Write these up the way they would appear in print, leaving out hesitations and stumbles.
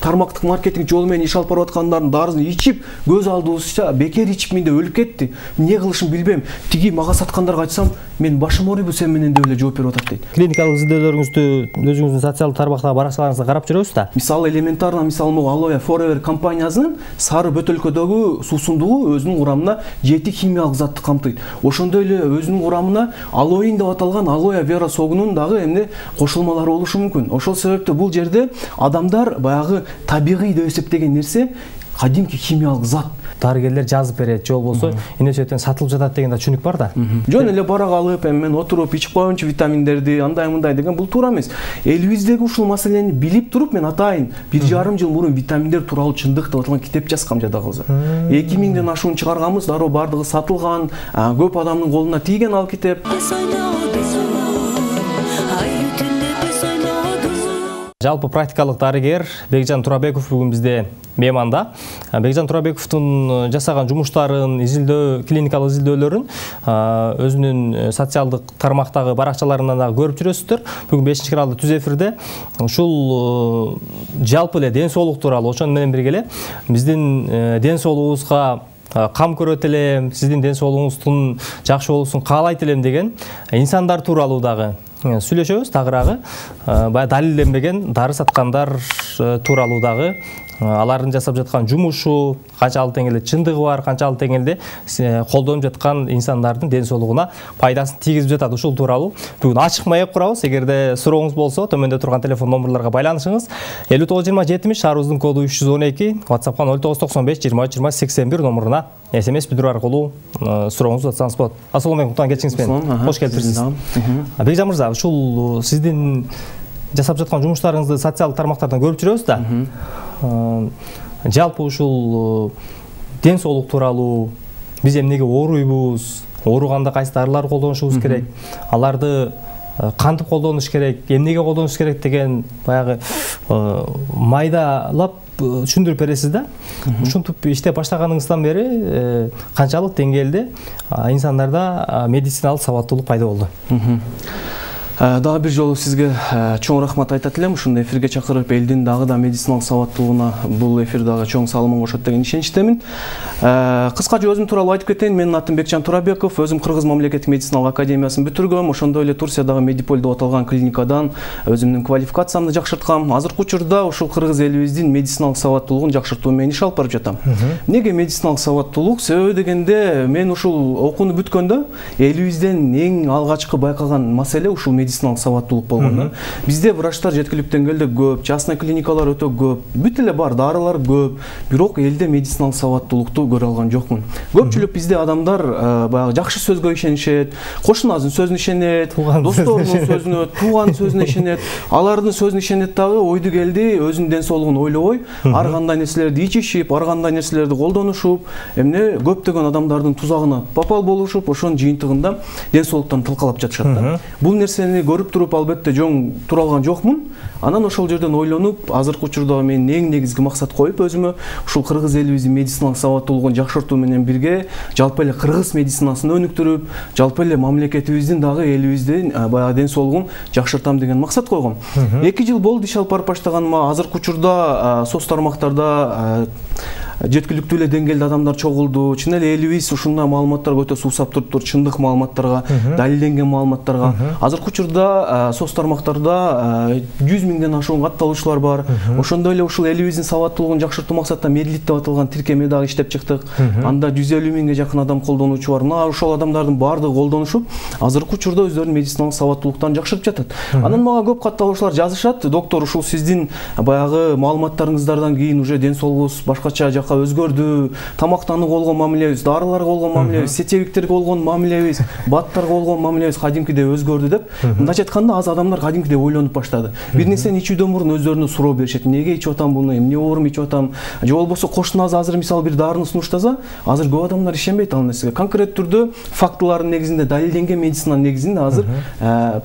тармактык маркетинг жолу менен иш алып барып аткандардын дарысын ичип көз алдыбызча бекер ичип менде өлүп кетти. Эмне кылышым билбейм. Тиги мага саткандарга айтсам, мен башым ооруйбу сен менен деп эле жооп берип атат дейт. Клиникалык изилдөөлөрүңүздү өзүңүздүн социалдык тармактагы баракчаларыңызда карап жүрөбүз да. Мисалы элементарно могу Aloe Forever компаниясынын сары бөтөлкөдөгү суусундугу өзүнүн курамына 7 химиялык затты камтыйт. Ошондой эле өзүнүн курамына алоин деп аталган Aloe Vera согунун дагы эмне кошулмалары болушу мүмкүн. Ошол себептен бул жерде адамдар баягы табигый деп эсептеген нерсе кадимки химиялык зат. Дарыгерлер жазып берет, же болбосо эмне себептен сатылып жатат деген да түшүнүк бар да. Жөн эле барак алып, мен отуруп ичип коеюнчу витаминдерди, андай мындай деген бул туура эмес. Элибиздеги ушул маселени билип туруп мен атайын 1,5 жыл мурун витаминдер тууралуу чындык деп аталган китеп жазгам жада калса. 2000ден ашуун чыгарганбыз, дароо бардыгы сатылган, көп адамдын колуна тийген ал китеп. Жалпы практикалык дарыгер Бекжан Турабеков бүгүн бизде мейманда. Бекжан Турабековдун жасаган жумуштарын, клиникалык изилдөөлөрүн өзүнүн социалдык тармактагы баракчаларынан да көрүп жүрөсүздөр. Бүгүн 5-каналда түз эфирде ушул жалпы эле ден соолук тууралуу, ошону менен бирге эле биздин ден соолугубузга кам көрөт элем, сиздин ден соолугуңуздун жакшы болуусун каалайт элем деген инсандар тууралуу дагы сүйлөшөбүз. Тагыраагы баягы далилденбеген дары саткандар тууралуу дагы алардын жасап жаткан жумушу канчалык деңгээлде чындыгы бар, канчалык деңгээлде колдонуп жаткан инсандардын ден соолугуна пайдасын тийгизип жатат, ушул тууралуу бүгүн ачык маек курабыз. Эгерде сурооңуз болсо, төмөндө турган телефон номерларга байланышыңыз. 592070 шаарыбыздын коду 312, WhatsApp'ка 0995 23 20 81 номуруна SMS билдирүү аркылуу сурооңузду атсаңыз болот. Ассалому алейкум, келиңиз менен. Кош келипсиз. Бекжан мырза, ушул сиздин жасап жаткан жумуштарыңызды социалдык тармактардан көрүп жүрөбүз да. Жалпы ушул ден соолук тууралуу биз эмнеге ооруйбуз, ооруганда кайсы дарылар колдонушубуз керек, аларды кантип колдонуш керек, эмнеге колдонуш керек деген баягы майдалап түшүндүрүп бересиз да. Ушинтип иштеп баштаганыңыздан бери канчалык деңгээлде инсандарда медициналык сабаттуулук пайда болду? Дагы бир жолу сизге чоң рахмат айтат элем. Ушундай эфирге чакырып, элдин дагы да медициналык сабаттуулугуна бул эфир дагы чоң салымын кошот деген ишеничтемин. Кыскача өзүм тууралуу айтып кетейин. Менин атым Бекжан Турабеков. Өзүм Кыргыз мамлекеттик медициналык академиясын бүтүргөм. Ошондой эле Турциядагы Медиполь деп аталган клиникадан өзүмдүн квалификациямды жакшырткам. Азыркы учурда ушул кыргыз элибиздин медициналык сабаттуулугун жакшыртуу менен иш алып барып жатам. Эмнеге медициналык сабаттуулук? Себеби дегенде, мен ушул окууну бүткөндө элибизден эң алгачкы байкаган маселе ушул медициналык сабаттуулук болгон. Бизде врачтар жеткиликтүү деңгээлде көп, частный клиникалар өтө көп, бүт эле бар, дарылар көп, бирок элде медициналык сабаттуулукту көрө алган жокмун. Көпчүлүк бизде адамдар баягы жакшы сөзгө ишенишет, кошунасын сөзүнө ишенет, досторунун сөзүнө, тууганын сөзүнө ишенет, алардын сөзүнө ишенет дагы, ойду келди, өзүнүн ден соолугун ойлобой, ар кандай нерселерди ичишип, ар кандай нерселерди колдонушуп, эмне көптөгөн адамдардын тузагына попал болушуп, ошонун жыйынтыгында ден соолуктан тылкалап жатышат да. Бул нерсени көрүп туруп, албетте жоң тура алган жокмун. Анан ошол жерден ойлонуп, азыркы учурда мен эң негизги максат коюп өзүмө ушул кыргыз элибиздин медициналык сабаттуулугун жакшыртуу менен бирге жалпы эле кыргыз медицинасын өнүктүрүп, жалпы эле мамлекетибиздин дагы элибиздин баягы ден соолугун жакшыртам деген максат койгом. 2 жыл болду иш алып барып баштаганыма. Азыркы учурда соц тармактарда жеткиликтүү эле деңгээлде адамдар чогулду. Чын эле элибиз ушундай маалыматтарга өтө суусап туруптур, чындык маалыматтарга, далилденген маалыматтарга. Азыркы учурда соц тармактарда 100 миңден ашуун катталуучулар бар. Ошондой эле ушул элибиздин сабаттуулугун жакшыртуу максатта Медлит деп аталган тиркеме дагы иштеп чыктык. Анда 150 миңге жакын адам колдонуучу бар. Мына ошол адамдардын баардыгы колдонушуп, азыркы учурда өздөрүнүн медициналык сабаттуулуктарын жакшыртып жатат. Анан мага көп катталуучулар жазышат: доктор, ушул сиздин баягы маалыматтарыңыздардан кийин уже ден соолугубуз башкача жакка өзгөрдү. Тамактанууга болгон мамилебиз, дарыларга болгон мамилебиз, сетевиктерге болгон мамилебиз, баттарга болгон мамилебиз кадимкидей өзгөрдү деп. Мындайча айтканда, аз адамдар кадимкидей ойлонуп баштады. Бир нерсени ичүүдөн мурун өздөрүнө суроо беришет: эмнеге ичип атам буну, эмне оорум ичип атам? Же болбосо кошунабыз азыр мисалы бир дарыны сунуштаса, азыр көп адамдар ишенбейт ал нерсеге. Конкрет түрдө фактылардын негизинде, далилденген медицинанын негизинде азыр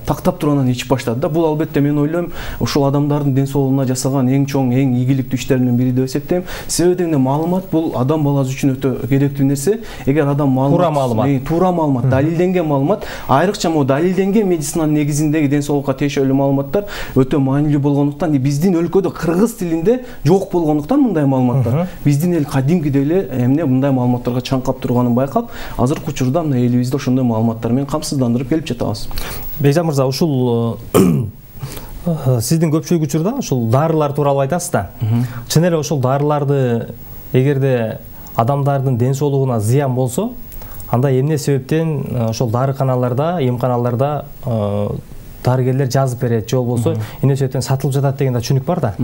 тактап туруп анан ичип баштады да. Бул албетте мен ойлойм, ушул адамдардын ден соолугуна жасаган эң чоң, эң ийгиликтүү иштердин бири деп эсептейм. Себеби дегенде маалымат бул адам баласы үчүн өтө керектүү нерсе. Эгер адам туура маалымат, далилденген маалымат, айрыкча могу далилденген медицинанын негизиндеги ден соолукка тиешелүү маалыматтар өтө маанилүү болгондуктан биздин өлкөдө кыргыз тилинде жок болгондуктан мындай маалыматтар биздин эл кадимкидей эле эмне мындай маалыматтарга чаңкап турганын байкап, азыркы учурда мына элибизде ошондой маалыматтар менен камсыздандырып келип жатабыз. Бекжан мырза, ушул сиздин көпчүлүк учурда ушул дарылар тууралуу айтасыз да. Чын эле ошол дарыларды эгерде адамдардын ден соолугуна зыян болсо, анда эмне себептен ошол дарыканаларда, эмканаларда дарыгерлер жазып берет, же болбосо эмне себептен сатылып жатат деген да түшүнүк бар да.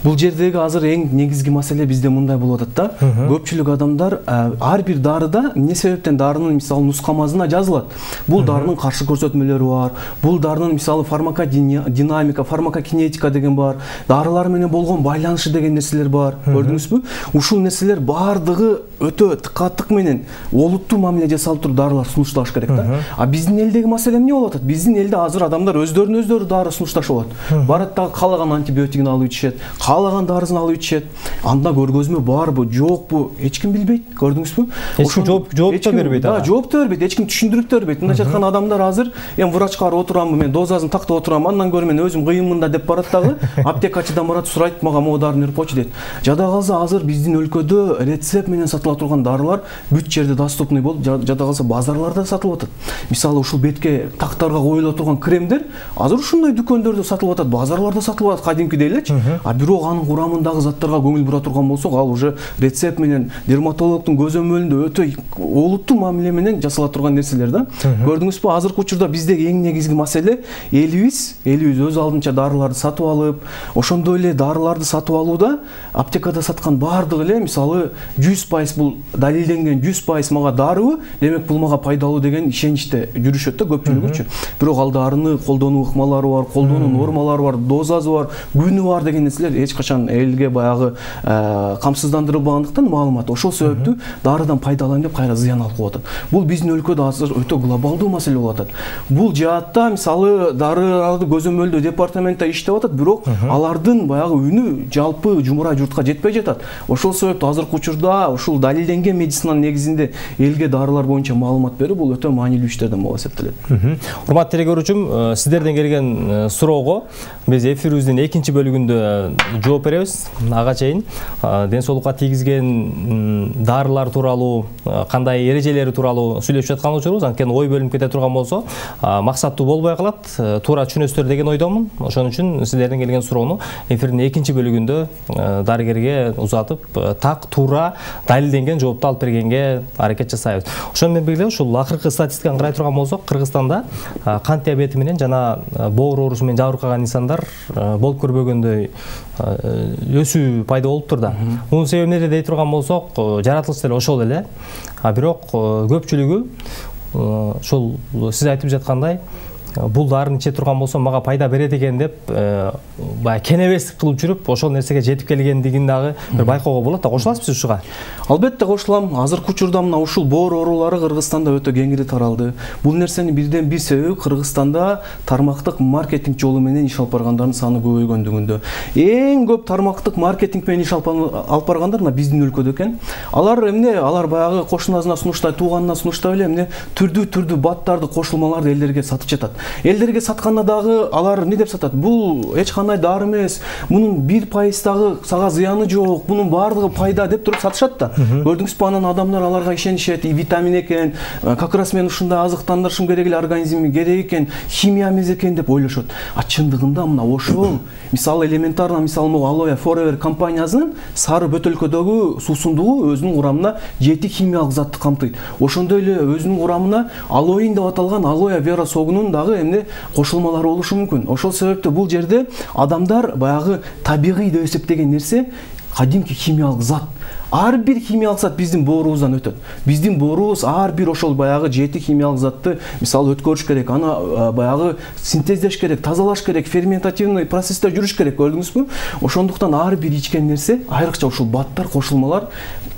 Бул жердеги азыр эң негизги маселе бизде мындай болуп атат да. Көпчүлүк адамдар ар бир дарыда эмне себептен дарынын мисалы нускамасына жазылат. Бул дарынын каршы көрсөтмөлөрү бар. Бул дарынын мисалы фармакодинамика, фармакокинетика деген бар. Дарылар менен болгон байланышы деген нерселер бар. Көрдүңүзбү? Ушул нерселер бардыгы өтө тыкаттык менен олуттуу мамиле жасалып туруп дарылар сунушталыш керек да. А биздин элдеги маселе эмне болуп атат? Биздин элде азыр адамдар өздөрүнө дары сунушташып алат. Барат дагы каалаган антибиотигин алып ичишет, каалаган дарысын алып ичишет. Анда көргөзмө барбы, жокпу, эч ким билбейт. Көрдүңүзбү? Ошо жооп да бербейт. Жооп да бербейт, эч ким түшүндүрүп да бербейт. Мындайча айтканда адамдар азыр эми врачка барып отурамбы, мен дозасын тактап отурам, андан көрө мен өзүм кыйынмын да деп барат дагы, аптекачыдан барат, сурайт, мага могу дарыны берип койчу дейт. Жада калса азыр биздин өлкөдө рецепт менен сатыла турган дарылар бүт жерде доступный болуп, жада калса базарларда сатылып атат. Мисалы ушул бетке тактарга коюла турган кремдер азыр ушундай дүкөндөрдө сатылып атат, базарларда сатылып атат кадимкидей элечи. А бирок анын курамындагы заттарга көңүл бура турган болсок, ал уже рецепт менен дерматологдун көзөмөлүндө өтө олуттуу мамиле менен жасала турган нерселер да. Көрдүңүзбү, азыркы учурда биздеги эң негизги маселе элибиз өз алдынча дарыларды сатып алып, ошондой эле дарыларды сатып алууда аптекада саткан бардыгы эле мисалы 100% бул далилденген 100% мага дарыбы, демек бул мага пайдалуу деген ишеничте жүрүшөт да көпчүлүгүчү. Бирок ал дарыны колдонуу ыкмалары бар, колдонуу нормалары бар, дозасы бар, күнү бар деген нерселер эч качан элге баягы камсыздандырылбагандыктан маалымат. Ошол себептүү дарыдан пайдаланайын деп кайра зыян алып коюп атат. Бул биздин өлкөдө азыр өтө глобалдуу маселе болуп атат. Бул жаатта мисалы дарыларды көзөмөлдөө департаментте иштеп атат, бирок алардын баягы үнү жалпы жумурай журтка жетпей жатат. Ошол себептүү азыркы учурда ушул далилденген медицинанын негизинде элге дарылар боюнча маалымат берүү бул өтө маанилүү иштерден болуп эсептелет. Урматтуу телекөрүүчүм, сиздерден келген суроого биз эфирибиздин экинчи бөлүгүндө жооп беребиз. Ага чейин ден соолукка тийгизген дарылар тууралуу, кандай эрежелери тууралуу сүйлөшүп жаткан учурубуз. Анткени ой бөлүнүп кете турган болсо, максаттуу болбой калат. Туура түшүнөсүздөр деген ойдомун. Ошон үчүн сиздерден келген суроону эфирдин экинчи бөлүгүндө дарыгерге узатып, так, туура, далилденген жоопту алып бергенге аракет жасайбыз. Ошону менен бирге ушул акыркы статистиканы карай турган болсок, Кыргызстанда кант диабети менен жана боор оорусу менен жабыркаган инсандар болуп көрбөгөндөй өсүү пайда болуптур да. Мунун себеби эмнеде дей турган болсок, жаратылыш деле ошол эле. Бирок көпчүлүгү ошол сиз айтып жаткандай бул дарыны иче турган болсом мага пайда берет экен деп баягы кенебестик кылып жүрүп ошол нерсеге жетип келгендигин дагы бир байкоого болот да. Кошуласызбы ушуга? Албетте кошулам. Азыркы учурда мына ушул боор оорулары Кыргызстанда өтө кеңири таралды. Бул нерсенин бирден бир себеби Кыргызстанда тармактык маркетинг жолу менен иш алып баргандардын саны көбөйгөндүгүндө. Эң көп тармактык маркетинг менен иш алып баргандар мына биздин өлкөдө экен. Алар эмне? Алар баягы кошунасына сунуштай, тууганына сунуштап эле эмне түрдүү баттарды, кошулмаларды элдерге сатып жатат. Элдерге сатканда дагы алар эмне деп сатат? Бул эч кандай дары эмес, мунун 1% дагы сага зыяны жок, мунун баардыгы пайда деп туруп сатышат да. Көрдүңүзбү, анан адамдар аларга ишенишет, витамин экен, как раз мен ушундай азыктандырышым керек эле организмге, керек экен, химия эмес экен деп ойлошот. А чындыгында мына ошол мисалы элементарно, мисалы могу Aloe Forever компаниясынын сары бөтөлкөдөгү суусундугу өзүнүн курамына 7 химиялык затты камтыйт. Ошондой эле өзүнүн курамына алоин деп аталган алоэ вера согунун дагы эмне кошулмалары болушу мүмкүн. Ошол себептен бул жерде адамдар баягы табигый деп эсептеген нерсе кадимки химиялык зат. Ар бир химиялык зат биздин боорубуздан өтөт. Биздин боорубуз ар бир ошол баягы 7 химиялык затты мисалы өткөрүш керек, аны баягы синтездеш керек, тазалаш керек, ферментативный процессте жүрүш керек, көрдүңүзбү? Ошондуктан ар бир ичкен нерсе, айрыкча ушул баттар, кошулмалар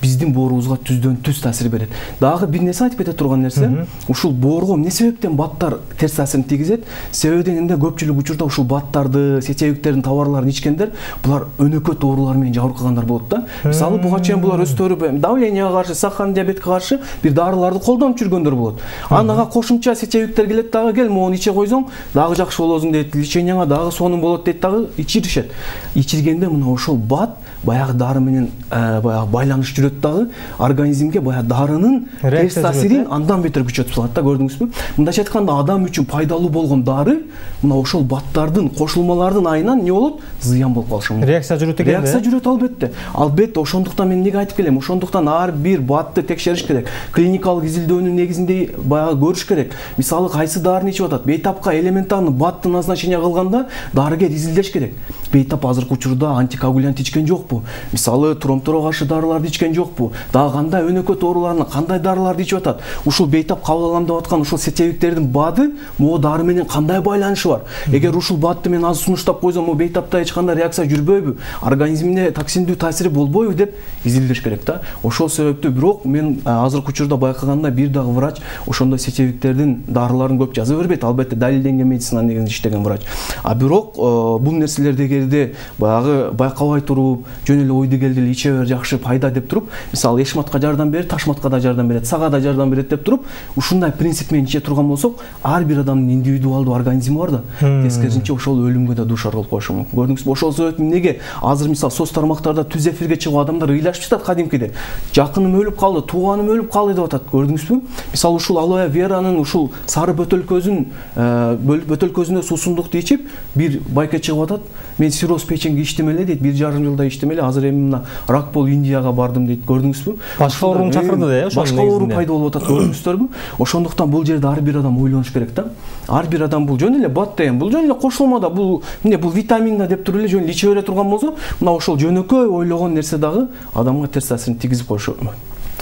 биздин боорубузга түздөн түз таасир берет. Дагы бир нерсе айтып кете турган нерсе, ушул боорго эмне себептен баттар терс таасирин тийгизет? Себеби дегенде көпчүлүк учурда ушул баттарды, сечебиктердин товарларын ичкендер булар өнөкөт оорулар менен жабыркап байкагандар болот да. Мисалы буга чейин булар өздөрү давленияга каршы, сахарный диабетке каршы бир дарыларды колдонуп жүргөндөр болот. Анага кошумча сечебиктер келет дагы, кел моуну иче койсоң дагы жакшы болосуң дейт, леченияңа дагы сонун болот дейт дагы, ичиришет. Ичиргенде мына ошол бат баягы дары менен баягы байланыш жүрөт дагы, организмге баягы дарынын терс таасирин андан бетер күчөтүп салат да, көрдүңүзбү? Мындайча айтканда адам үчүн пайдалуу болгон дары мына ошол баттардын, кошулмалардын айынан не болот? Зыян болуп калышы мүмкүн. Реакция жүрөт экен. Реакция жүрөт албетте. Албетте, ошондуктан мен эмнеге айтып келем? Ошондуктан ар бир батты текшериш керек. Клиникалык изилдөөнүн негизинде баягы көрүш керек. Мисалы кайсы дарыны ичип атат? Бейтапка элементарный батты назначение кылганда дарыгер изилдеш керек. Бейтап азыркы учурда антикоагулянт ичкен жокпу? Мисалы тромбторго каршы дарыларды ичкен жокпу? Дагы кандай өнөкөт ооруларына кандай дарыларды ичип атат? Ушул бейтап кабыл алам деп аткан ушул сечебиктердин баады могу дары менен кандай байланышы бар? Эгер ушул баатты мен азыр сунуштап койсом, могу бейтапта эч кандай реакция жүрбөйбү? Организмине токсиндүү таасири болбойбу деп изилдеш керек да. Ошол себептүү бирок мен азыркы учурда байкаганда бир дагы врач ошондой сечебиктердин дарыларын көп жазып бербейт. Албетте далилденген медицина негизинде иштеген врач. А бирок бул нерселерди эгерде баягы байкабай туруп, жөн эле ойду келди эле иче бер жакшы пайда деп туруп, мисалы эшматка жардам берет, ташматка да жардам берет, сага да жардам берет деп туруп, ушундай принцип менен иче турган болсок, ар бир адамдын индивидуалдуу организми бар да. Тескерисинче ошол өлүмгө да дуушар кылып коюшу мүмкүн. Көрдүңүзбү? Ошол себептен эмнеге азыр мисалы соц тармактарда түз эфирге чыгып адамдар ыйлашып жатат кадимкиде. Жакыным өлүп калды, тууганым өлүп калды деп атат. Көрдүңүзбү? Мисалы ушул алоэ веранын ушул сары бөтөлкөзүнө суусундукту ичип, бир байка чыгып атат. Мен сироз печенге иштим эле дейт, 1,5 жылда иштим эле, азыр эми мына рак болуп Индияга бардым дейт. Көрдүңүзбү? Башка оорууну чакырды да, ошол башка оору пайда болуп атат, көрдүңүздөрбү? Ошондуктан бул жерде ар бир адам ойлонуш керек да. Ар бир адам бул жөн эле бат деген, бул жөн эле кошулма да, бул эмне, бул витамин да деп туруп эле жөн эле иче бере турган болсо, мына ошол жөнөкөй ойлогон нерсе дагы адамга терс таасирин тийгизип коюшу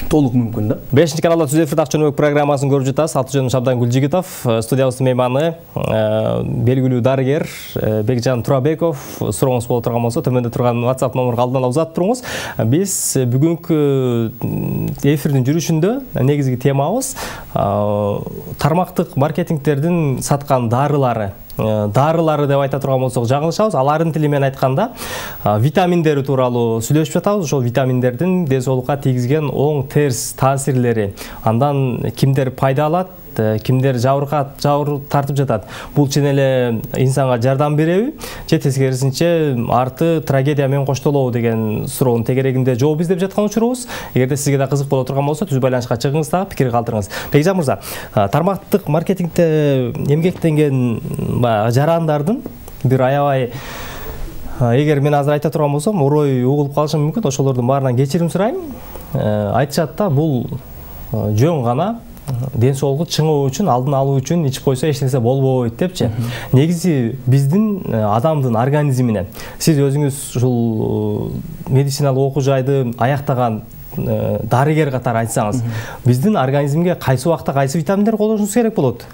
толук мүмкүн да. 5 каналда түз эфирде Ак Жөнөбек программасын көрүп жатасыз. Аты жөнүм Шабдан Гүлжигитов. Студиябыздын мейманы белгилүү дарыгер Бекжан Турабеков. Сурооңуз боло турган болсо, төмөндө турган WhatsApp номерге алдын ала узатып туруңуз. Биз бүгүнкү эфирдин жүрүшүндө негизги темабыз тармактык маркетингтердин саткан дарылары деп айта турган болсок жаңылышабыз. Алардын тили менен айтканда витаминдери тууралуу сүйлөшүп жатабыз. Ошол витаминдердин ден соолукка тийгизген оң терс таасирлери, андан кимдер пайда алат, кимдер жабыр тартып жатат. Бул чын эле инсанга жардам береби же тескерисинче арты трагедия менен коштолобу деген суроонун тегерегинде жооп издеп жаткан учурубуз. Эгерде сизге да кызык боло турган болсо, түз байланышка чыгыңыз дагы, пикир калтырыңыз. Бекжан мырза, тармактык маркетингде эмгектенген жарандардын бир аябай, эгер мен азыр айта турган болсом, орой угулуп калышым мүмкүн, ошолордун баарынан кечирим сурайм. Айтышат да, бул жөн гана ден соолугу чыңоо үчүн, алдын алуу үчүн ичип койсо эч нерсе болбойт депчи. Негизи биздин адамдын организмине, сиз өзүңүз ушул медициналык окуу жайды аяктаган дарыгер катары айтсаңыз, биздин организмге кайсы убакта кайсы витаминдер колдонушубуз керек болот?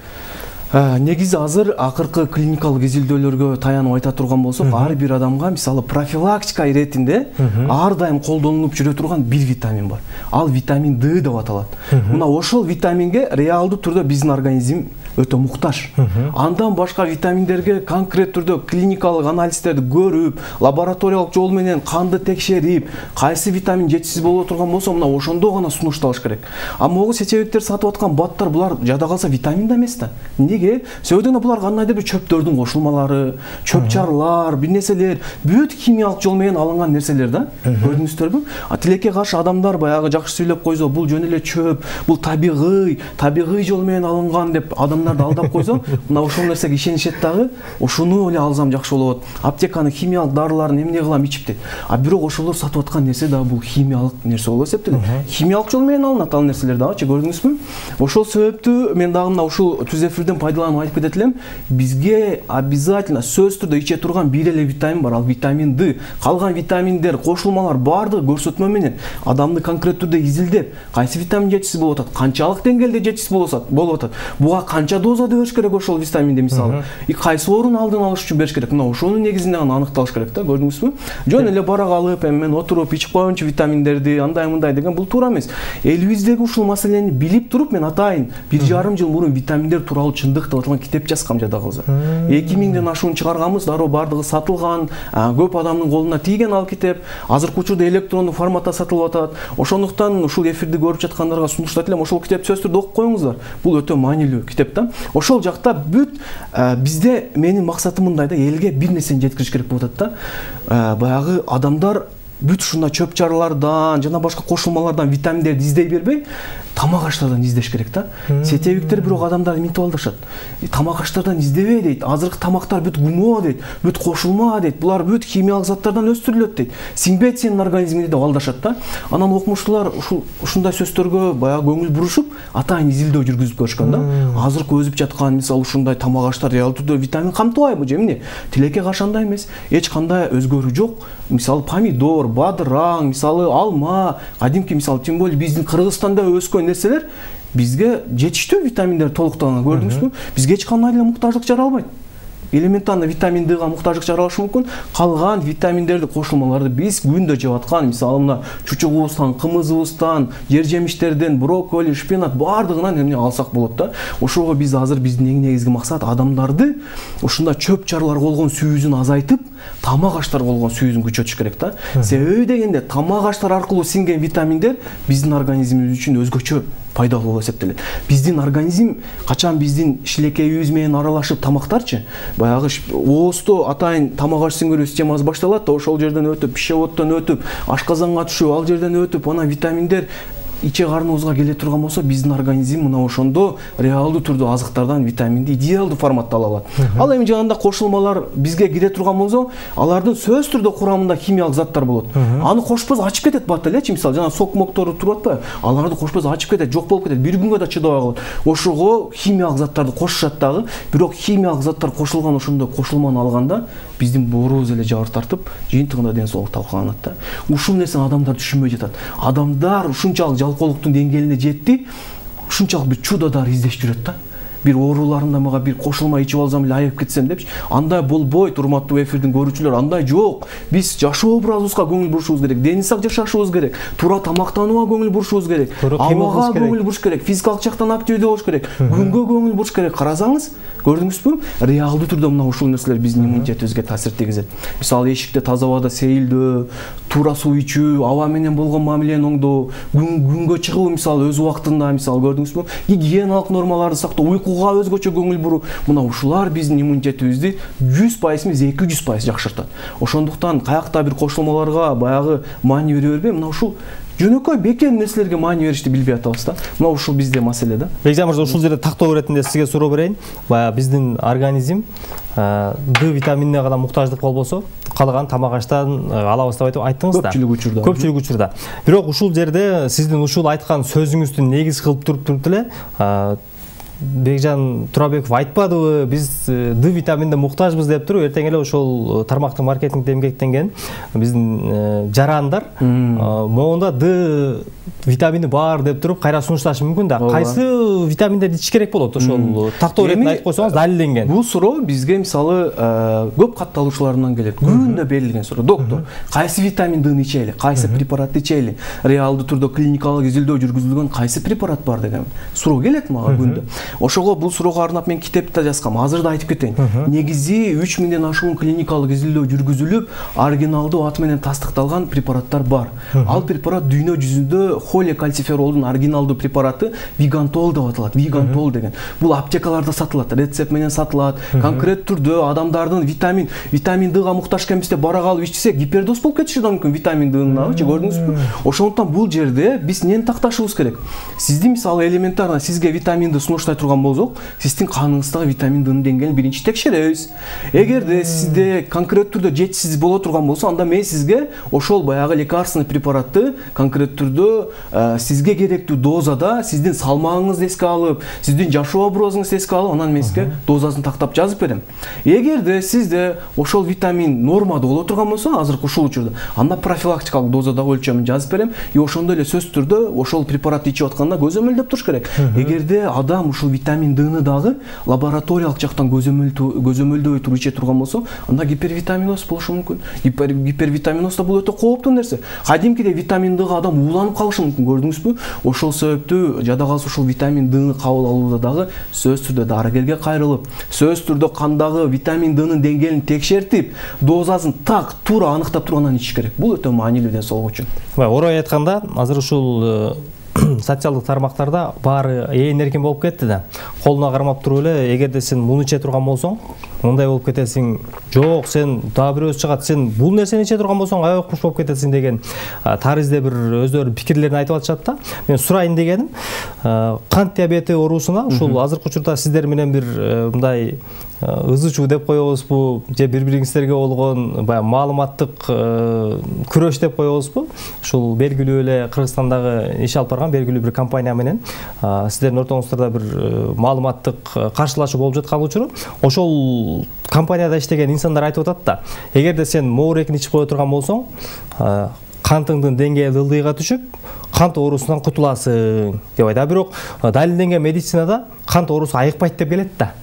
Негизи азыр акыркы клиникалык изилдөөлөргө таянып айта турган болсок, ар бир адамга мисалы профилактика иретинде ар дайым колдонулуп жүрө турган бир витамин бар. Ал витамин D деп аталат. Мына ошол витаминге реалдуу түрдө биздин организм өтө муктаж. Андан башка витаминдерге конкрет түрдө клиникалык анализдерди көрүп, лабораториялык жол менен канды текшерип, кайсы витамин жетишсиз боло турган болсо, мына ошондо гана сунушталыш керек. А могу сечебиктер сатып аткан баттар булар жада калса витамин да эмес да. Неге? Себеби булар кандайдыр бир чөптөрдүн кошулмалары, чөп-чарлар, бир нерселер, бүт химиялык жол менен алынган нерселер да. Көрдүңүздөрбү? А тилекке каршы адамдар баягы жакшы сүйлөп койсо, бул жөн эле чөп, бул табигый жол менен алынган деп адамдарды алдап койсо, мына ошол нерсеге ишенишет дагы, ошону эле алсам жакшы болот. Аптеканын химиялык дарыларын эмне кылам ичип дейт. А бирок ошолор сатып аткан нерсе дагы бул химиялык нерсе болуп эсептелет. Химиялык жол менен алынат ал нерселер дагычы, көрдүңүзбү? Ошол себептүү мен дагы мына ушул түз эфирден пайдаланып айтып кетет элем, бизге обязательно сөзсүз түрдө иче турган бир эле витамин бар, ал витамин D. Калган витаминдер, кошулмалар баардыгы көрсөтмө менен адамды конкрет түрдө изилдеп, кайсы витамин жетишсиз болуп атат, канчалык деңгээлде жетишсиз болуп атат, буга канча канча дозада бериш керек ошол витаминди мисалы, кайсы оорунун алдын алыш үчүн бериш керек. Мына ошонун негизинде гана аныкталыш керек да, көрдүңүзбү? Жөн эле барак алып, эми мен отуруп ичип коеюнчу витаминдерди, андай мындай деген бул туура эмес. Элибиздеги ушул маселени билип туруп, мен атайын 1,5 жыл мурун витаминдер тууралуу чындык деп аталган китеп жазгам жада калса. 2000ден ашуун чыгарганбыз, дароо бардыгы сатылган, көп адамдын колуна тийген ал китеп. Азыркы учурда электрондук форматта сатылып атат. Ошондуктан ушул эфирди көрүп жаткандарга сунуштайт элем, ошол китепти сөзсүз түрдө окуп коюңуздар. Бул өтө маанилүү китеп да. Ошол жакта бүт бизде менин максатым мындай да, элге бир нерсени жеткириш керек болуп атат да. Баягы адамдар бүт ушундай чөп чарылардан жана башка кошулмалардан витаминдерди издей бербей, тамак аштардан издеш керек да. Сетевиктер бирок адамдар минтип алдырышат. Тамак аштардан издебей дейт. Азыркы тамактар бүт гумо дейт, бүт кошулма дейт. Булар бүт химиялык заттардан өстүрүлөт дейт. Сиңбейт сенин организмиңде деп алдашат да. Анан окумуштуулар ушундай сөздөргө баягы көңүл бурушуп, атайын изилдөө жүргүзүп көрүшкөн да. Азыркы өзүп жаткан мисалы ушундай тамак аштар реал түрдө витамин камтыбайбы же эмне? Тилекке каршы андай эмес. Эч кандай өзгөрүү жок. Мисалы помидор, бадыраң, мисалы алма, кадимки мисалы тем более биздин Кыргызстанда өскөн нерселер бизге жетиштүү витаминдер толуктаган, көрдүңүзбү? Бизге эч кандай эле муктаждык жаралбайт. Элементарный витамин Д'га муктаждык жаралышы мүмкүн. Калган витаминдерди, кошулмаларды биз күндө жеп аткан, мисалы мына чучугубуздан, кымызыбыздан, жер жемиштерден, брокколи, шпинат бардыгынан эмне алсак болот да. Ошого биз азыр биздин эң негизги максат адамдарды ушундай чөп чарлар болгон сүйүүсүн азайтып, тамак аштар болгон сүйүүсүн күчөтүш керек да. Себеби дегенде тамак аштар аркылуу сиңген витаминдер биздин организмибиз үчүн өзгөчө пайдалуу болуп эсептелет. Биздин организм качан биздин шилекейибиз менен аралашып тамактарчы, баягы ооздо атайын тамак аш сиңирүү системасы башталат да, ошол жерден өтүп, пищеводдон өтүп, ашказанга түшүп, ал жерден өтүп, анан витаминдер иче карныбызга келе турган болсо, биздин организм мына ошондо реалдуу түрдө азыктардан витаминди идеалдуу форматта ала алат. Ал эми жанагындай кошулмалар бизге кире турган болсо, алардын сөзсүз түрдө курамында химиялык заттар болот. Аны кошпос ачып кетет бат элечи, мисалы жана сок моктору туруп атпайбы? Аларды кошпос ачып кетет, жок болуп кетет, бир күнгө да чыдабай калат. Ошого химиялык заттарды кошушат дагы, бирок химиялык заттар кошулган ошондой кошулманы алганда биздин боорубуз эле жабыр тартып, жыйынтыгында ден соолук талкаланат да. Ушул нерсени адамдар түшүнбөй жатат. Адамдар ушунчалык жалкоолуктун деңгээлине жетти, ушунчалык бир чудо дары издешип жүрөт да. Бир ооруларымда мага бир кошулма ичип алсам эле айыгып кетсем депчи. Андай болбойт, урматтуу эфирдин көрүүчүлөр, андай жок. Биз жашоо образыбызга көңүл бурушубуз керек, дени сак жашашыбыз керек, туура тамактанууга көңүл бурушубуз керек, абага көңүл буруш керек, физикалык жактан активдүү болуш керек, күнгө көңүл буруш керек. Карасаңыз, көрдүңүзбү? Реалдуу түрдө мына ушул нерселер биздин иммунитетибизге таасир тийгизет. Мисалы эшикте таза абада сейилдөө, туура суу ичүү, аба менен болгон мамилени оңдоо, күнгө чыгуу мисалы өз убактында, мисалы көрдүңүзбү? Гигиеналык нормаларды сактоо, uyquга өзгөчө көңүл буруу. Мына ушулар биздин иммунитетибизди 100% эмес 200% жакшыртат. Ошондуктан каякта бир кошулмаларга баягы маани бере бербей, мына ушул жөнөкөй бекер нерселерге маани беришти билбей атабыз да. Мына ушул бизде маселе да. Бекжан мырза, ушул жерде тактоо иретинде сизге суроо берейин. Баягы биздин организм Д витаминине гана муктаждык болбосо, калган тамак аштан алабыз деп айттыңыз да. Көпчүлүк учурда. Бирок ушул жерде сиздин ушул айткан сөзүңүздү негиз кылып туруп эле Бекжан Турабеков айтпадыбы, биз Д витаминине муктажбыз деп туруп, эртең эле ошол тармактын маркетингде эмгектенген биздин жарандар могунда Д витамини бар деп туруп кайра сунушташы мүмкүн да. Кайсы витаминдерди ичиш керек болот? Ошол тактоо иретин айтып койсоңуз, далилденген. Бул суроо бизге мисалы көп катталуучулардан келет. Күндө берилген суроо. Доктор, кайсы витамин Д'ны ичели, кайсы препаратты ичели, реалдуу түрдө клиникалык изилдөө жүргүзүлгөн кайсы препарат бар деген суроо келет мага күндө. Ошого бул суроого арнап мен китепте жазгам. Азыр да айтып кетейин. Негизи 3000ден ашуун клиникалык изилдөө жүргүзүлүп, оригиналдуу аты менен тастыкталган препараттар бар. Ал препарат дүйнө жүзүндө холикальциферолдун оригиналдуу препараты Вигантол деп аталат. Вигантол деген. Бул аптекаларда сатылат, рецепт менен сатылат. Конкрет түрдө адамдардын витамин Д'га муктаж экенбизде барак алып ичсек, гипердоз болуп кетиши да мүмкүн витамин Д'ныңчы, көрдүңүзбү? Ошондуктан бул жерде биз эмнени такташыбыз керек? Сиздин мисалы элементарно сизге витамин Д сунуштай турган болсок, сиздин каныңыздагы витамин Д'нын деңгээлин биринчи текшеребиз. Эгерде сизде конкрет түрдө жетишсиз боло турган болсо, анда мен сизге ошол баягы лекарственный препаратты конкрет түрдө сизге керектүү дозада, сиздин салмагыңызды эске алып, сиздин жашоо образыңызды эске алып, анан мен сизге дозасын тактап жазып берем. Эгерде сизде ошол витамин нормада боло турган болсо, азыркы ушул учурда, анда профилактикалык дозадагы өлчөмүн жазып берем. И ошондой эле сөзсүз түрдө ошол препаратты ичип атканда көзөмөлдөп туруш керек. Эгерде адам ушул витамин Д'ны дагы лабораториялык жактан көзөмөлдөбөй туруп иче турган болсо, анда гипервитаминоз болушу мүмкүн. Гипервитаминоз да бул өтө кооптуу нерсе. Кадимкиде витамин Д'га адам ууланып калышы мүмкүн, көрдүңүзбү? Ошол себептүү жада калса ушул витамин Д'ны кабыл алууда дагы сөзсүз түрдө дарыгерге кайрылып, сөзсүз түрдө кандагы витамин Д'нын деңгээлин текшертип, дозасын так туура аныктап туруп анан ичиш керек. Бул өтө маанилүү ден соолук үчүн. Орой айтканда, азыр ушул социалдык тармактарда баары ээн эркин болуп кетти да. Колуна кармап туруп эле, эгерде сен муну иче турган болсоң, мындай болуп кетесиң. Жок, сен дагы бирөөсү чыгат, сен бул нерсени иче турган болсоң, аябай укмуш болуп кетесиң деген таризде бир өздөрүнүн пикирлерин айтып атышат да. Мен сурайын дегеним, кант диабети оорусуна ушул азыркы учурда сиздер менен бир мындай ызычуу деп коебузбу, же бири-бириңиздерге болгон баягы маалыматтык күрөш деп коебузбу? Ушул белгилүү эле Кыргызстандагы иш алып барган белгилүү бир компания менен сиздердин ортоңуздарда бир маалыматтык каршылашуу болуп жаткан учуру, ошол компанияда иштеген инсандар айтып атат да, эгерде сен моорекин ичип кое турган болсоң, кантыңдын деңгээли ылдыйга түшүп, кант оорусунан кутуласың деп айтат. Бирок далилденген медицинада кант оорусу айыкпайт деп келет да.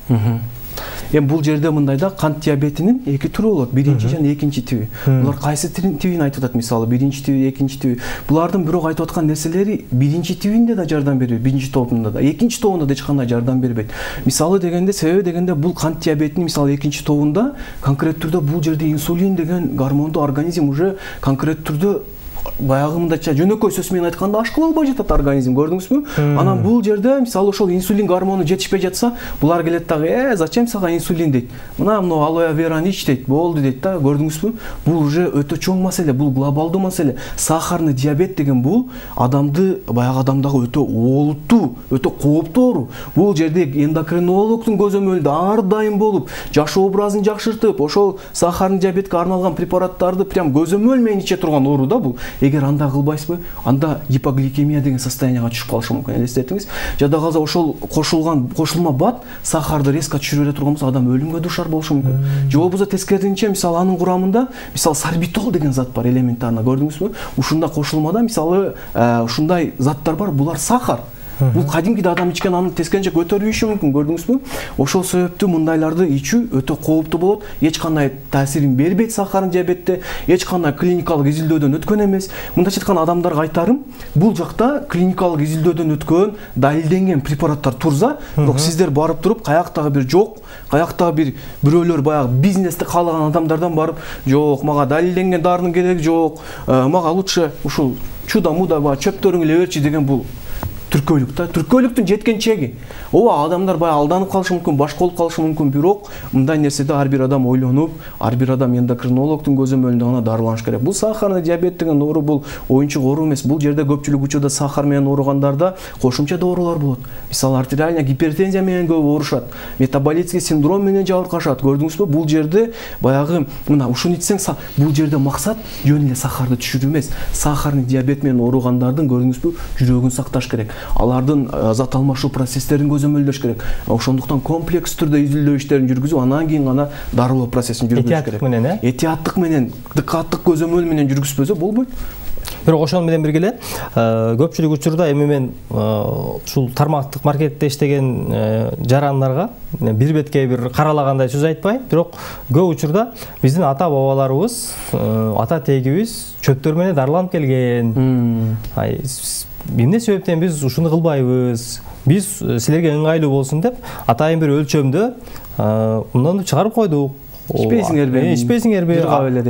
Эми бул жерде мындай да, кант диабетинин эки түрү болот. Биринчи жана экинчи тиби. Булар кайсы тибин айтып атат, мисалы биринчи тиби, экинчи тиби. Булардын бирок айтып аткан нерселери биринчи тибинде да жардам бербейт, биринчи тобунда да, экинчи тобунда да эч кандай жардам бербейт. Мисалы дегенде, себеби дегенде бул кант диабетинин мисалы экинчи тобунда конкрет түрдө бул жерде инсулин деген гормонду организм уже конкрет түрдө баягы мындайча жөнөкөй сөз менен айтканда ашкыла албай жатат организм, көрдүңүзбү? Анан бул жерде мисалы ошол инсулин гормону жетишпей жатса, булар келет дагы, зачем сага инсулин дейт. Мына алоэ вераны ич дейт, болду дейт да, көрдүңүзбү? Бул уже өтө чоң маселе, бул глобалдуу маселе. Сахарный диабет деген бул адамды баягы адамдагы өтө олуттуу, өтө кооптуу оору. Бул жерде эндокринологдун көзөмөлүндө ар дайым болуп, жашоо образын жакшыртып, ошол сахарный диабетке арналган препараттарды прям көзөмөл менен иче турган оору да бул. Эгер анда кылбайсызбы, анда гипогликемия деген состоянияга түшүп калышы мүмкүн. Элестетиңиз, жада калса ошол кошулма бат сахарды резко түшүрүп бере турган болсо, адам өлүмгө дуушар болушу мүмкүн. Же болбосо тескерисинче, мисалы анын курамында мисалы сорбитол деген зат бар, элементарно, көрдүңүзбү? Ушундай кошулмада мисалы ушундай заттар бар, булар сахар. Бул кадимкиде адам ичкен анын тескерисинче көтөрүшү мүмкүн, көрдүңүзбү? Ошол себептүү мындайларды ичүү өтө кооптуу болот. Эч кандай таасирин бербейт сахарный диабетте, эч кандай клиникалык изилдөөдөн өткөн эмес. Мындайча айтканда адамдарга айтарым, бул жакта клиникалык изилдөөдөн өткөн, далилденген препараттар турса, бирок сиздер барып туруп, каяктагы бир жок, каяктагы бирөөлөр баягы бизнести каалаган адамдардан барып, жок, мага далилденген дарынын кереги жок, мага лучше ушул чуда-муда чөптөрүң эле берчи деген бул түркөйлүк да. Түркөйлүктүн жеткен чеги. Ооба, адамдар баягы алданып калышы мүмкүн, башка болуп калышы мүмкүн, бирок мындай нерседе ар бир адам ойлонуп, ар бир адам эндокринологдун көзөмөлүндө гана дарыланыш керек. Бул сахарный диабет деген оору бул оюнчук оору эмес. Бул жерде көпчүлүк учурда сахар менен ооругандарда кошумча доорулар болот. Мисалы артериальная гипертензия менен көп оорушат, метаболический синдром менен жабыркашат. Көрдүңүзбү? Бул жерде баягы мына ушуну ичсең, бул жерде максат жөн эле сахарды түшүрүү эмес. Сахарный диабет менен ооругандардын көрдүңүзбү, жүрөгүн сакташ керек. Алардын зат алмашуу процесстерин көзөмөлдөш керек. Ошондуктан комплекс түрдө изилдөө иштерин жүргүзүп, анан кийин гана дарылоо процессин жүргүзүш керек. Этияттык менен, дыккаттык көзөмөл менен жүргүзбөсө болбойт. Бирок ошол менен бирге эле көпчүлүк учурда эми мен ушул тармактык маркетте иштеген жарандарга бир бетке бир каралагандай сөз айтпай, бирок көп учурда биздин ата бабаларыбыз, ата тегибиз чөптөр менен дарыланып келген. Эмне себептен биз ушуну кылбайбыз? Биз силерге ыңгайлуу болсун деп атайын бир өлчөмдө мындан чыгарып койдук. Ичпейсиңерби?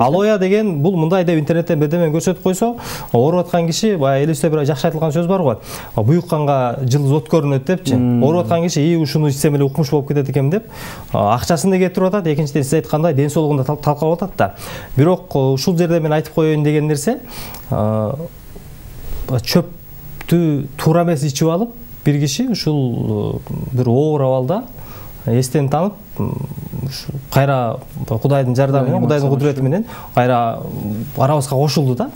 Алоэ деген бул мындай деп интернеттен бирдеме көрсөтүп койсо, ооруп аткан киши баягы элибизде бир жакшы айтылган сөз бар го. Буюкканга жылыз от көрүнөт депчи. Ооруп аткан киши ушуну ичсем эле укмуш болуп кетет экен деп акчасын да кетирип атат, экинчиден сиз айткандай ден соолугун да талкалап атат да. Бирок ушул жерде мен айтып коеюн деген нерсе, чөптү туура эмес ичип алып, бир киши ушул бир оор абалда эстен танып, кайра Кудайдын жардамы менен, Кудайдын кудурети менен кайра арабызга кошулду да.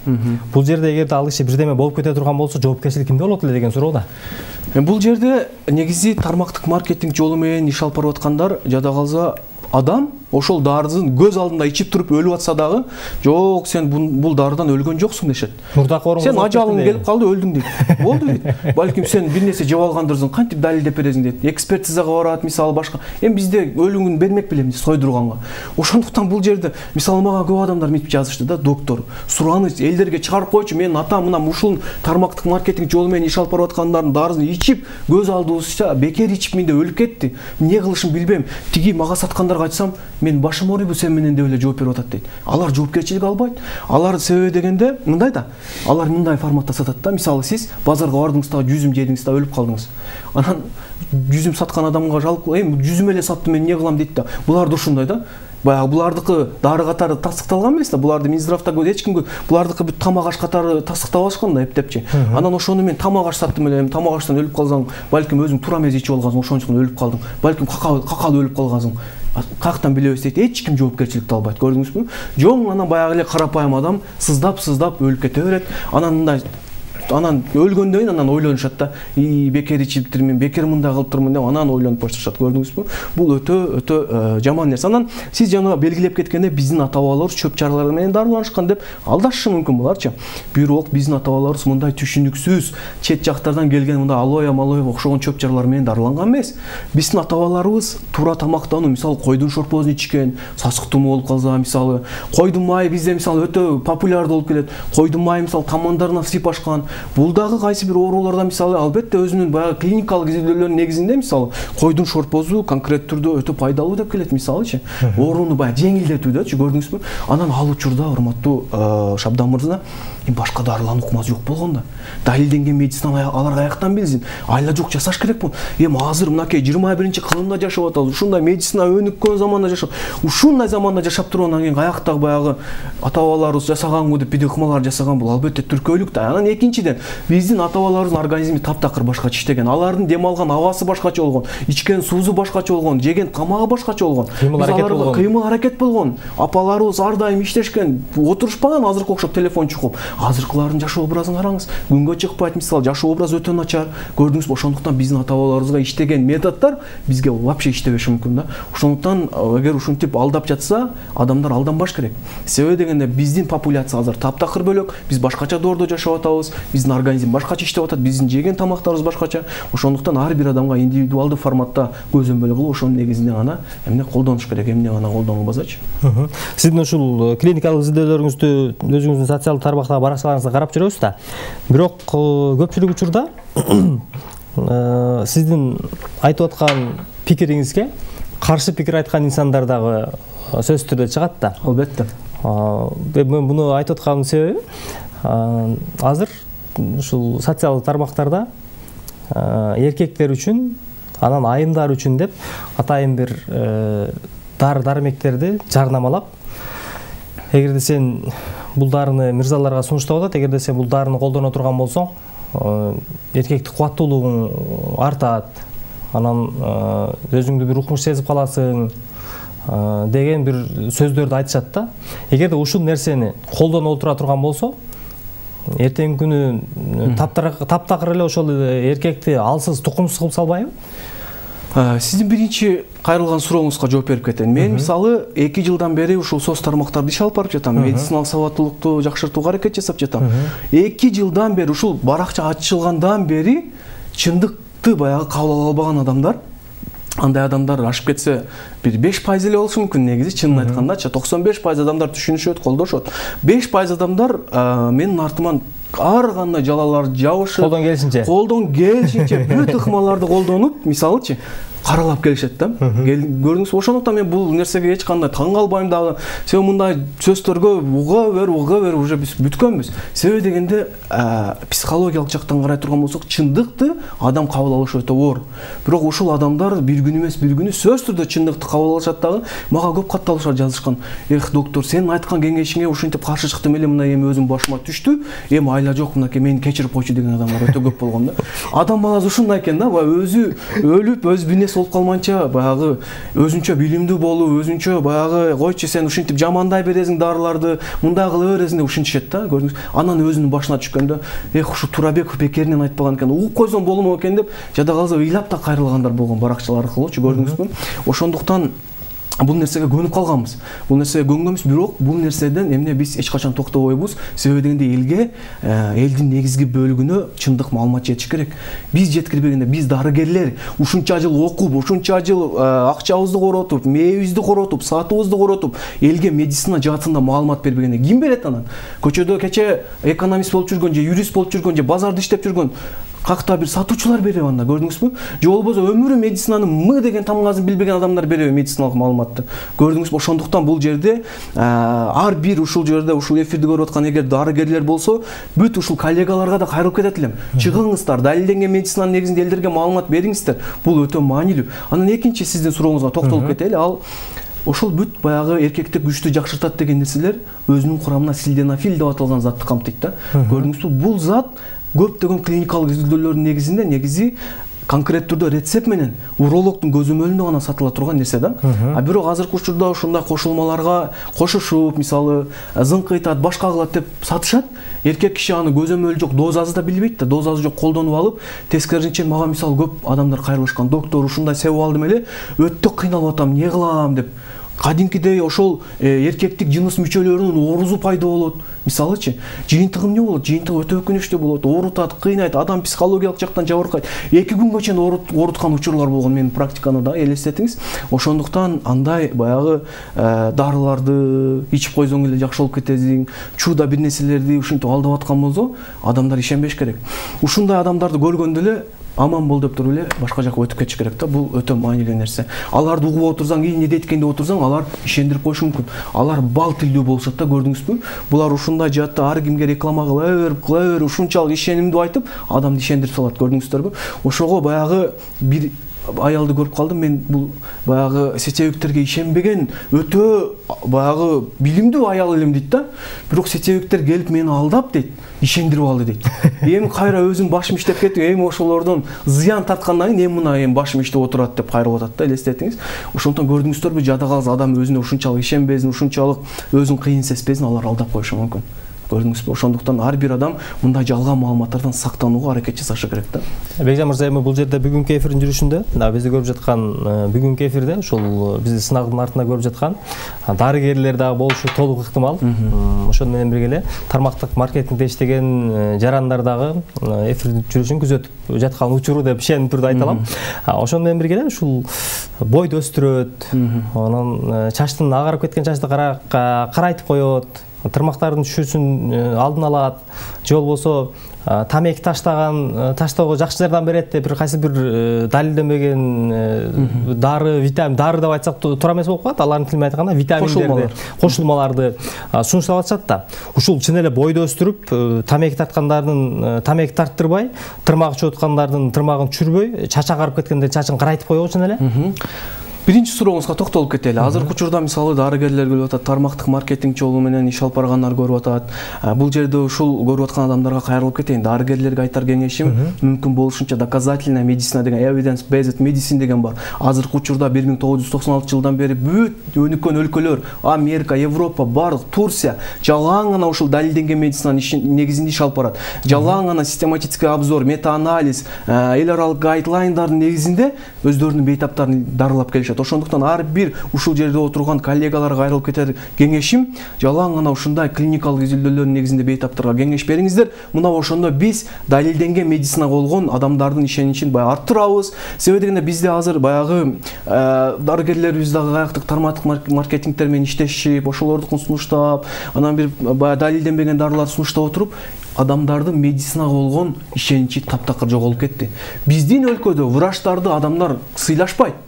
Бул жерде эгерде ал киши бирдеме болуп кете турган болсо, жоопкерчилик кимде болот эле деген суроо да. Бул жерде негизи тармактык маркетинг жолу менен иш алып барып аткандар жада калса адам ошол дарысын көз алдында ичип туруп өлүп атса дагы, жок, сен бул дарыдан өлгөн жоксуң дешет. Сен ажалың келип калды, өлдүң дейт. Болду дейт. Балким сен бир нерсе жеп алгандырсың, кантип далилдеп бересиң дейт. Экспертизага барат, мисалы башка. Эми бизде өлүгүн бермек белем сойдурганга. Ошондуктан бул жерде мисалы мага көп адамдар мынтип жазышты да, доктор, сураныч элдерге чыгарып койчу, менин атам мына ушул тармактык маркетинг жолу менен иш алып барып аткандардын дарысын ичип, көз алдыбызча бекер ичип менде өлүп кетти. Эмне кылышын билбейм. Тиги мага саткандарга айтсам, мен башым ооруйбу сен менен деп эле жооп берип атат дейт. Алар жоопкерчилик албайт. Алар себеби дегенде мындай да. Алар мындай форматта сатат да. Мисалы сиз базарга бардыңыз да, жүзүм жедиңиз да, өлүп калдыңыз. Анан жүзүм саткан адамга жалп, эми жүзүм эле саттым, мен эмне кылам дейт да. Булар да ушундай да. Баягы булардыкы дары катары тастыкталган эмес да. Буларды Минздравда эч кимге булардыкы бүт тамак аш катары тастыктап алышкан да, эптепчи. Анан ошону мен тамак аш саттым эле, тамак аштан өлүп калсаң, балким өзүң туура эмес ичип алгансың, ошондуктан өлүп калдың. Балким какалып өлүп калгансың. Каяктан билебиз дейт, эч ким жоопкерчиликти албайт, көрдүңүзбү? Жон анан баягы эле карапайым адам сыздап өлүп кете берет. Анан өлгөндөн кийин анан ойлонушат да, бекер ичиптирмин, бекер мындай кылыптырмын деп анан ойлонуп башташат, көрдүңүзбү? Бул өтө жаман нерсе. Анан сиз жана белгилеп кеткенде биздин ата-бабаларыбыз чөп чаралар менен дарыланышкан деп алдашышы мүмкүн буларчы. Бирок биздин ата-бабаларыбыз мындай түшүнүксүз чет жактардан келген мындай алоя окшогон чөп чаралар менен дарыланган эмес. Биздин ата-бабаларыбыз туура тамактануу, мисалы койдун шорпосун ичкен, сасык тумоо болуп калса, мисалы койдун майы бизде мисалы өтө популярдуу болуп келет. Койдун майы мисалы тамандарына сыйпашкан. Бул дагы кайсы бир ооруларда мисалы албетте өзүнүн баягы клиникалык изилдөөлөрүнүн негизинде мисалы койдун шорпосу конкрет түрдө өтө пайдалуу деп келет мисалычы. Ооруну баягы жеңилдетүүдөчү, көрдүңүзбү? Анан ал учурда урматтуу Шабдан мырза, башка дарылануу ыкмасы жок болгон да. Далилденген медицина алар каяктан билсин? Айла жок жасаш керек бул. Эми азыр мынакей 21-кылымда жашап атабыз. Ушундай медицина өнүккөн заманда жашап, ушундай заманда жашап тургандан кийин каяктагы баягы ата-бабаларыбыз жасаганбы деп бир ыкмалар жасаган, бул албетте түркөөлүк да. Анан экинчиден биздин ата-бабаларыбыздын организми таптакыр башкача иштеген. Алардын дем алган абасы башкача болгон, ичкен суусу башкача болгон, жеген тамагы башкача болгон. Кыймыл аракет болгон. Апаларыбыз ар дайым иштешкен, отурушпаган азыркы окшоп телефон чукуп. Азыркылардын жашоо образын караңыз. Күнгө чыкпайт, мисалы жашоо образ өтө начар. Көрдүңүзбү? Ошондуктан биздин ата-бабаларыбызга иштеген методдор бизге вообще иштебеши мүмкүн да. Ошондуктан эгер ушинтип алдап жатса, адамдар алданбаш керек. Себеби дегенде биздин популяция азыр таптакыр бөлөк, биз башкача доордо жашап атабыз, биздин организм башкача иштеп атат, биздин жеген тамактарыбыз башкача. Ошондуктан ар бир адамга индивидуалдуу форматта көзөмөл кылып, ошонун негизинде гана эмне колдонуш керек, эмне гана колдонбасачы. Сиздин ушул клиникалык изилдөөлөрүңүздү өзүңүздүн социалдык тармактагы баракчаларыңызда карап жүрөбүз да. Бирок көпчүлүк учурда сиздин айтып аткан пикириңизге каршы пикир айткан инсандар дагы сөзсүз түрдө чыгат да. Албетте. Мен буну айтып атканымдын себеби азыр ушул социалдык тармактарда эркектер үчүн, анан айымдар үчүн деп атайын бир дары-дармектерди жарнамалап, эгерде сен бул дарыны мырзаларга сунуштап атат, эгерде сен бул дарыны колдоно турган болсоң, эркектик кубаттуулугуң артат, анан өзүңдү бир укмуш сезип каласың деген бир сөздөрдү айтышат да. Эгерде ушул нерсени колдонуп отура турган болсо, эртеңки күнү таптакыр эле ошол эркекти алсыз, тукумсуз кылып салбайбы? Сиздин биринчи кайрылган сурооңузга жооп берип кетейин. Мен мисалы 2 жылдан бери ушул соц тармактарда иш алып барып жатам. Медициналык сабаттуулукту жакшыртууга аракет жасап жатам. 2 жылдан бери ушул баракча ачылгандан бери чындыкты баягы кабыл ала албаган адамдар, андай адамдар ашып кетсе бир 5% эле болушу мүмкүн негизи, чынын айткандачы. 95% адамдар түшүнүшөт, колдошот. 5% адамдар менин артыман ар кандай жалалар жабышып, колдон келишинче бүт ыкмаларды колдонуп, мисалычы каралап келишет да. Көрдүңүзбү? Ошондуктан мен бул нерсеге эч кандай таң калбайм дагы. Себеби мындай сөздөргө уга бер уже биз бүткөнбүз. Себеби дегенде психологиялык жактан карай турган болсок, чындыкты адам кабыл алыш өтө оор. Бирок ушул адамдар бир күн эмес бир күнү сөзсүз түрдө чындыкты кабыл алышат дагы. Мага көп катталыштар жазышкан. Эх, доктор, сенин айткан кеңешиңе ушинтип каршы чыктым эле, мына эми өзүм башыма түштү. Эми айла жок, мынакей мени кечирип койчу деген адамдар өтө көп болгон да. Адам баласы ушундай экен да, өзү өлүп, өз бинеси болуп калмайынча баягы өзүнчө билимдүү болуп, өзүнчө баягы койчу сен ушинтип жамандай бересиң дарыларды, мындай кыла бересиң деп ушинтишет да, көрдүңүз. Анан өзүнүн башына түшкөндө, эх, ушу Турабеков бекеринен айтпаган экен, угуп койсом болмок экен деп жада калса ыйлап да кайрылгандар болгон баракчалар аркылуучу, көрдүңүзбү? Ошондуктан бул нерсеге көнүп калганбыз. Бул нерсеге көнгөнбүз, бирок бул нерседен эмне биз эч качан токтобойбуз. Себеби дегенде элге, элдин негизги бөлүгүнө чындык маалымат жетиш керек. Биз жеткирбегенде биз дарыгерлер ушунча жыл окуп, ушунча жыл акчабызды коротуп, мээбизди коротуп, саатыбызды коротуп, элге медицина жаатында маалымат бербегенде ким берет анан? Көчөдө кече экономист болуп жүргөн же юрист болуп жүргөн же базарда иштеп жүргөн какта бир сатуучулар береби анда, көрдүңүзбү? Же болбосо өмүрү медицинанын мы деген тамгасын билбеген адамдар береби медициналык маалыматты? Көрдүңүзбү? Ошондуктан бул жерде ар бир ушул жерде ушул эфирди көрүп аткан эгер дарыгерлер болсо, бүт ушул коллегаларга да кайрылып кетет элем. Чыгыңыздар, далилденген медицинанын негизинде элдерге маалымат бериңиздер. Бул өтө маанилүү. Анан экинчи сиздин сурооңузга токтолуп кетели. Ал ошол бүт баягы эркектик күчтү жакшыртат деген нерселер өзүнүн курамына силденафил деп аталган затты камтыйт да. Көрдүңүзбү? Бул зат көптөгөн клиникалык изилдөөлөрдүн негизинде конкреттүү түрдө рецепт менен урологдун көзөмөлүндө гана сатыла турган нерсе да. Бирок азыркы учурда ушундай кошулмаларга кошушуп, мисалы зыңкыйтат, башка кылат деп сатышат. Эркек киши аны көзөмөлү жок, дозасы да билбейт да, дозасы жок колдонуп алып, тескерисинче мага мисалы көп адамдар кайрылышкан. Доктор, ушундай себеп алдым эле, өтө кыйналып атам, эмне кылам деп. Кадимкидей ошол эркектик жыныс мүчөлөрүнүн оорузу пайда болот. Мисалычы, жыйынтыгы эмне болот? Жыйынтыгы өтө өкүнүчтүү болот, оорутат, кыйнайт, адам психологиялык жактан жабыркайт. 2 күнгө чейин ооруткан учурлар болгон менин практиканы да элестетиңиз. Ошондуктан андай баягы дарыларды ичип койсоң эле жакшы болуп кетесиң, чууда бир нерселерди ушинтип алдап аткан болсо, адамдар ишенбеш керек. Ушундай адамдарды көргөндө эле аман бол деп туруп эле башка жака өтүп кетиш керек да. Бул өтө маанилүү нерсе. Аларды угуп отурсаң, эмне дейт экен деп отурсаң, алар ишендирип коюшу мүмкүн. Алар бал тилдүү болушат да, көрдүңүзбү? Булар ушундай жаатта ар кимге реклама кыла бер, ушунчалык ишенимдүү айтып, адамды ишендирип салат, көрдүңүздөрбү? Ошого баягы бир аялды көрүп калдым мен, бул баягы сетевиктерге ишенбеген өтө баягы билимдүү аял элем дейт да. Бирок сетевиктер келип мени алдап дейт, ишендирип алды дейт. Эми кайра өзүм башым иштеп кетти, эми ошолордон зыян тарткандан кийин эми мына башым иштеп отурат деп кайрылып атат да, элестетиңиз. Ошондон көрдүңүздөрбү, жада калса адам өзүнө ушунчалык ишенбесин, ушунчалык өзүн кыйын сезбесин, алар алдап коюшу мүмкүн. Көрдүңүзбү? Ошондуктан ар бир адам мындай жалган маалыматтардан сактанууга аракет жасашы керек да. Бекжан мырза, эми бул жерде бүгүнкү эфирдин жүрүшүндө, бизди көрүп жаткан бүгүнкү эфирде ушул бизди сынагдын артында көрүп жаткан дарыгерлер дагы болушу толук ыктымал. Ошону менен бирге эле тармактык маркетингде иштеген жарандар дагы эфирдин жүрүшүн күзөтүп жаткан учуру деп ишенип түрдө айта алам. Ошону менен бирге эле ушул бойду өстүрөт, анан чачтын агарып кеткен чачты карайтып коет, тырмактардын түшүүсүн алдын алат, же болбосо тамеки таштоого жакшы жардам берет деп бир кайсы бир далилденбеген дары, витамин, дары деп айтсак туура эмес болуп калат. Алардын тилинен айтканда витаминдерди, кошулмаларды сунуштап атышат да. Ушул чын эле бойду өстүрүп, тамеки тарткандардын тамеки тарттырбай, тырмак чогуткандардын тырмагын түшүрбөй, чачы агарып кеткенде чачын карайтып коебу чын эле. Биринчи сурооңузга токтолуп кетели. Азыркы учурда мисалы дарыгерлер келип атат, тармактык маркетинг жолу менен иш алып баргандар көрүп атат. Бул жерде ушул көрүп аткан адамдарга кайрылып кетейин. Дарыгерлерге айтар кеңешим, мүмкүн болушунча доказательная медицина деген, evidence based medicine деген бар. Азыркы учурда 1996 жылдан бери бүт өнүккөн өлкөлөр, Америка, Европа, бардык, Турция жалаң гана ушул далилденген медицинанын негизинде иш алып барат. Жалаң гана систематический обзор, мета-анализ, эл аралык гайдлайндардын негизинде өздөрүнүн бейтаптарын дарылап келишет. Ошондуктан ар бир ушул жерде отурган коллегаларга кайрылып кетер кеңешим, жалаң гана ушундай клиникалык изилдөөлөрдүн негизинде бейтаптарга кеңеш бериңиздер. Мына ошондо биз далилденген медицинага болгон адамдардын ишеничин баягы арттырабыз. Себеби дегенде бизде азыр баягы дарыгерлерибиз дагы каяктык тармактык маркетингтер менен иштешип, ошолордукун сунуштап, анан бир баягы далилденбеген дарыларды сунуштап отуруп, адамдардын медицинага болгон ишеничи таптакыр жоголуп кетти. Биздин өлкөдө врачтарды адамдар сыйлашпайт.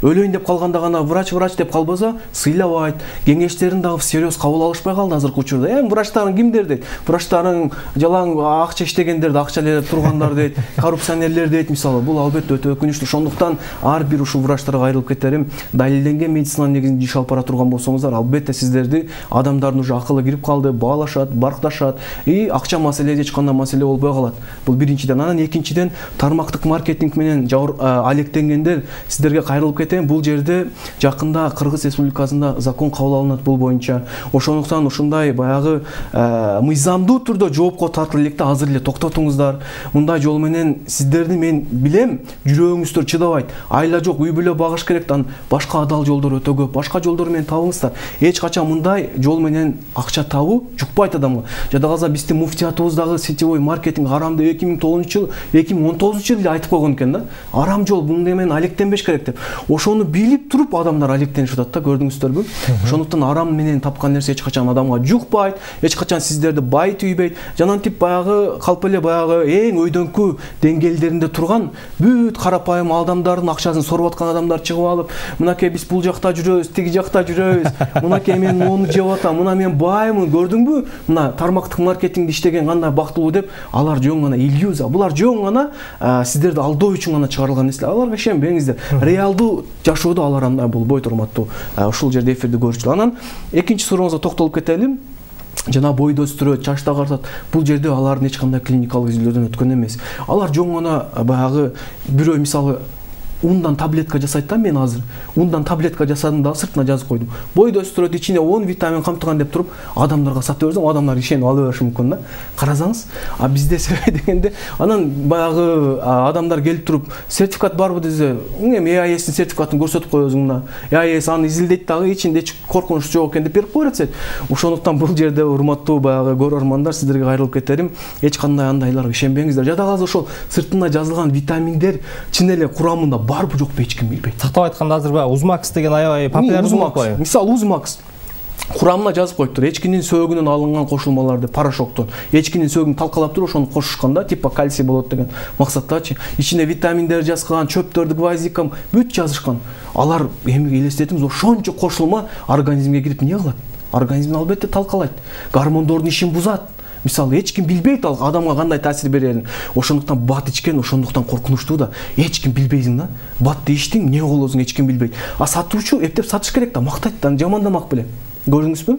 Өлөйүн деп калганда гана врач деп калбаса сыйлабайт. Кеңештерин дагы всерьез кабыл алышпай калды азыркы учурда. Врачтарын кимдер дейт? Врачтарын жалаң акча иштегендерди, акча элеп тургандар дейт, коррупционерлер дейт мисалы. Бул албетте өтө өкүнүчтүү. Ошондуктан ар бир ушул врачтарга кайрылып кетерим. Далилденген медицинанын негизинде иш алып бара турган болсоңуздар, албетте сиздерди адамдардын уже акылы кирип калды, баалашат, баркташат, акча маселеси эч кандай маселе болбой калат. Бул биринчиден. Анан экинчиден тармактык маркетинг менен алектенгендер сиздерге кайрылып кетейин, бул жерде жакында Кыргыз Республикасында закон кабыл алынат бул боюнча. Ошондуктан ушундай баягы мыйзамдуу түрдө жоопко тартыла электе азыр эле токтотуңуздар. Мындай жол менен сиздерди мен билем, жүрөгүңүздөр чыдабайт. Айла жок, үй бүлө багыш керек, башка адал жолдор өтө көп. Башка жолдор менен табыңыздар. Эч качан мындай жол менен акча табуу жукпайт адамга. Жада калса биздин муфтиятыбыздагы сетевой маркетинг арам деп 2009 2019 эле айтып койгон экен да. Арам жол, мындай менен алектенбеш керек деп. Ошону билип туруп адамдар алектенип атат да, көрдүңүздөрбү? Ошондуктан арам менен тапкан нерсе эч качан адамга жукпайт, эч качан сиздерди байытпайт. Жанантип баягы калп эле баягы эң өйдөңкү деңгээлдеринде турган бүт карапайым адамдардын акчасын соруп аткан адамдар чыгып алып, мынакей биз бул жакта жүрөбүз, тиги жакта жүрөбүз, мынакей мен мону жеп атам, мына мен баймын, көрдүңбү? Мына тармактык маркетингде иштеген кандай бактылуу деп, алар жөн гана иллюзия. Булар жөн гана сиздерди алдоо үчүн гана чыгарылган нерселер. Аларга ишенбеңиздер. Реалдуу жашоодо алар андай болбойт, урматтуу ушул жерде эфирди көрүүчүлөр. Анан экинчи сурооңузга токтолуп кетели. Жана бойду өстүрөт, чачты агартат. Бул жерде алардын эч кандай клиникалык изилдөөдөн өткөн эмес. Алар жөн гана баягы бирөө мисалы ундан таблетка жасайт да, мен азыр ундан таблетка жасадым да сыртына жазып койдум. Бойду өстүрөт, ичине 10 витамин камтыган деп туруп, адамдарга сатып берсем, адамдар ишенип ала бериши мүмкүн да. Карасаңыз, бизде себеби дегенде, анан баягы адамдар келип туруп, сертификат барбы десе, эми EAS-тин сертификатын көрсөтүп коесуң, EAS аны изилдейт дагы, ичинде коркунуч жок экен деп берип коет. Ошондуктан бул жерде урматтуу баягы көрөрмандар, сиздерге кайрылып кетерим, эч кандай андайларга ишенбеңиздер. Жада калса ошол сыртына жазылган витаминдер чын эле курамында барбы жокпу эч ким билбейт. Тактап айтканда азыр баягы Узмакс деген аябай популярдуу болуп калды. Мисалы Узмакс курамына жазып коюптур, эчкинин сөөгүнөн алынган кошулмалар деп, порошоктон. Эчкинин сөөгүн талкалап туруп, ошону кошушканда типа кальций болот деген максаттачы. Ичине витаминдер жазган, чөптөрдү гвоздикам бүт жазышкан. Алар эми элестетиңиз, ошончо кошулма организмге кирип эмне кылат? Организмди албетте талкалайт. Гормондордун ишин бузат. Мисалы эч ким билбейт ал адамга кандай таасир берерин. Ошондуктан бат ичкен ошондуктан коркунучтуу да. Эч ким билбейсиң да. Батты ичтиң, эмне болосуң, эч ким билбейт. Сатуучу эптеп сатыш керек да, мактайт да, жамандамак беле. Көрдүңүзбү?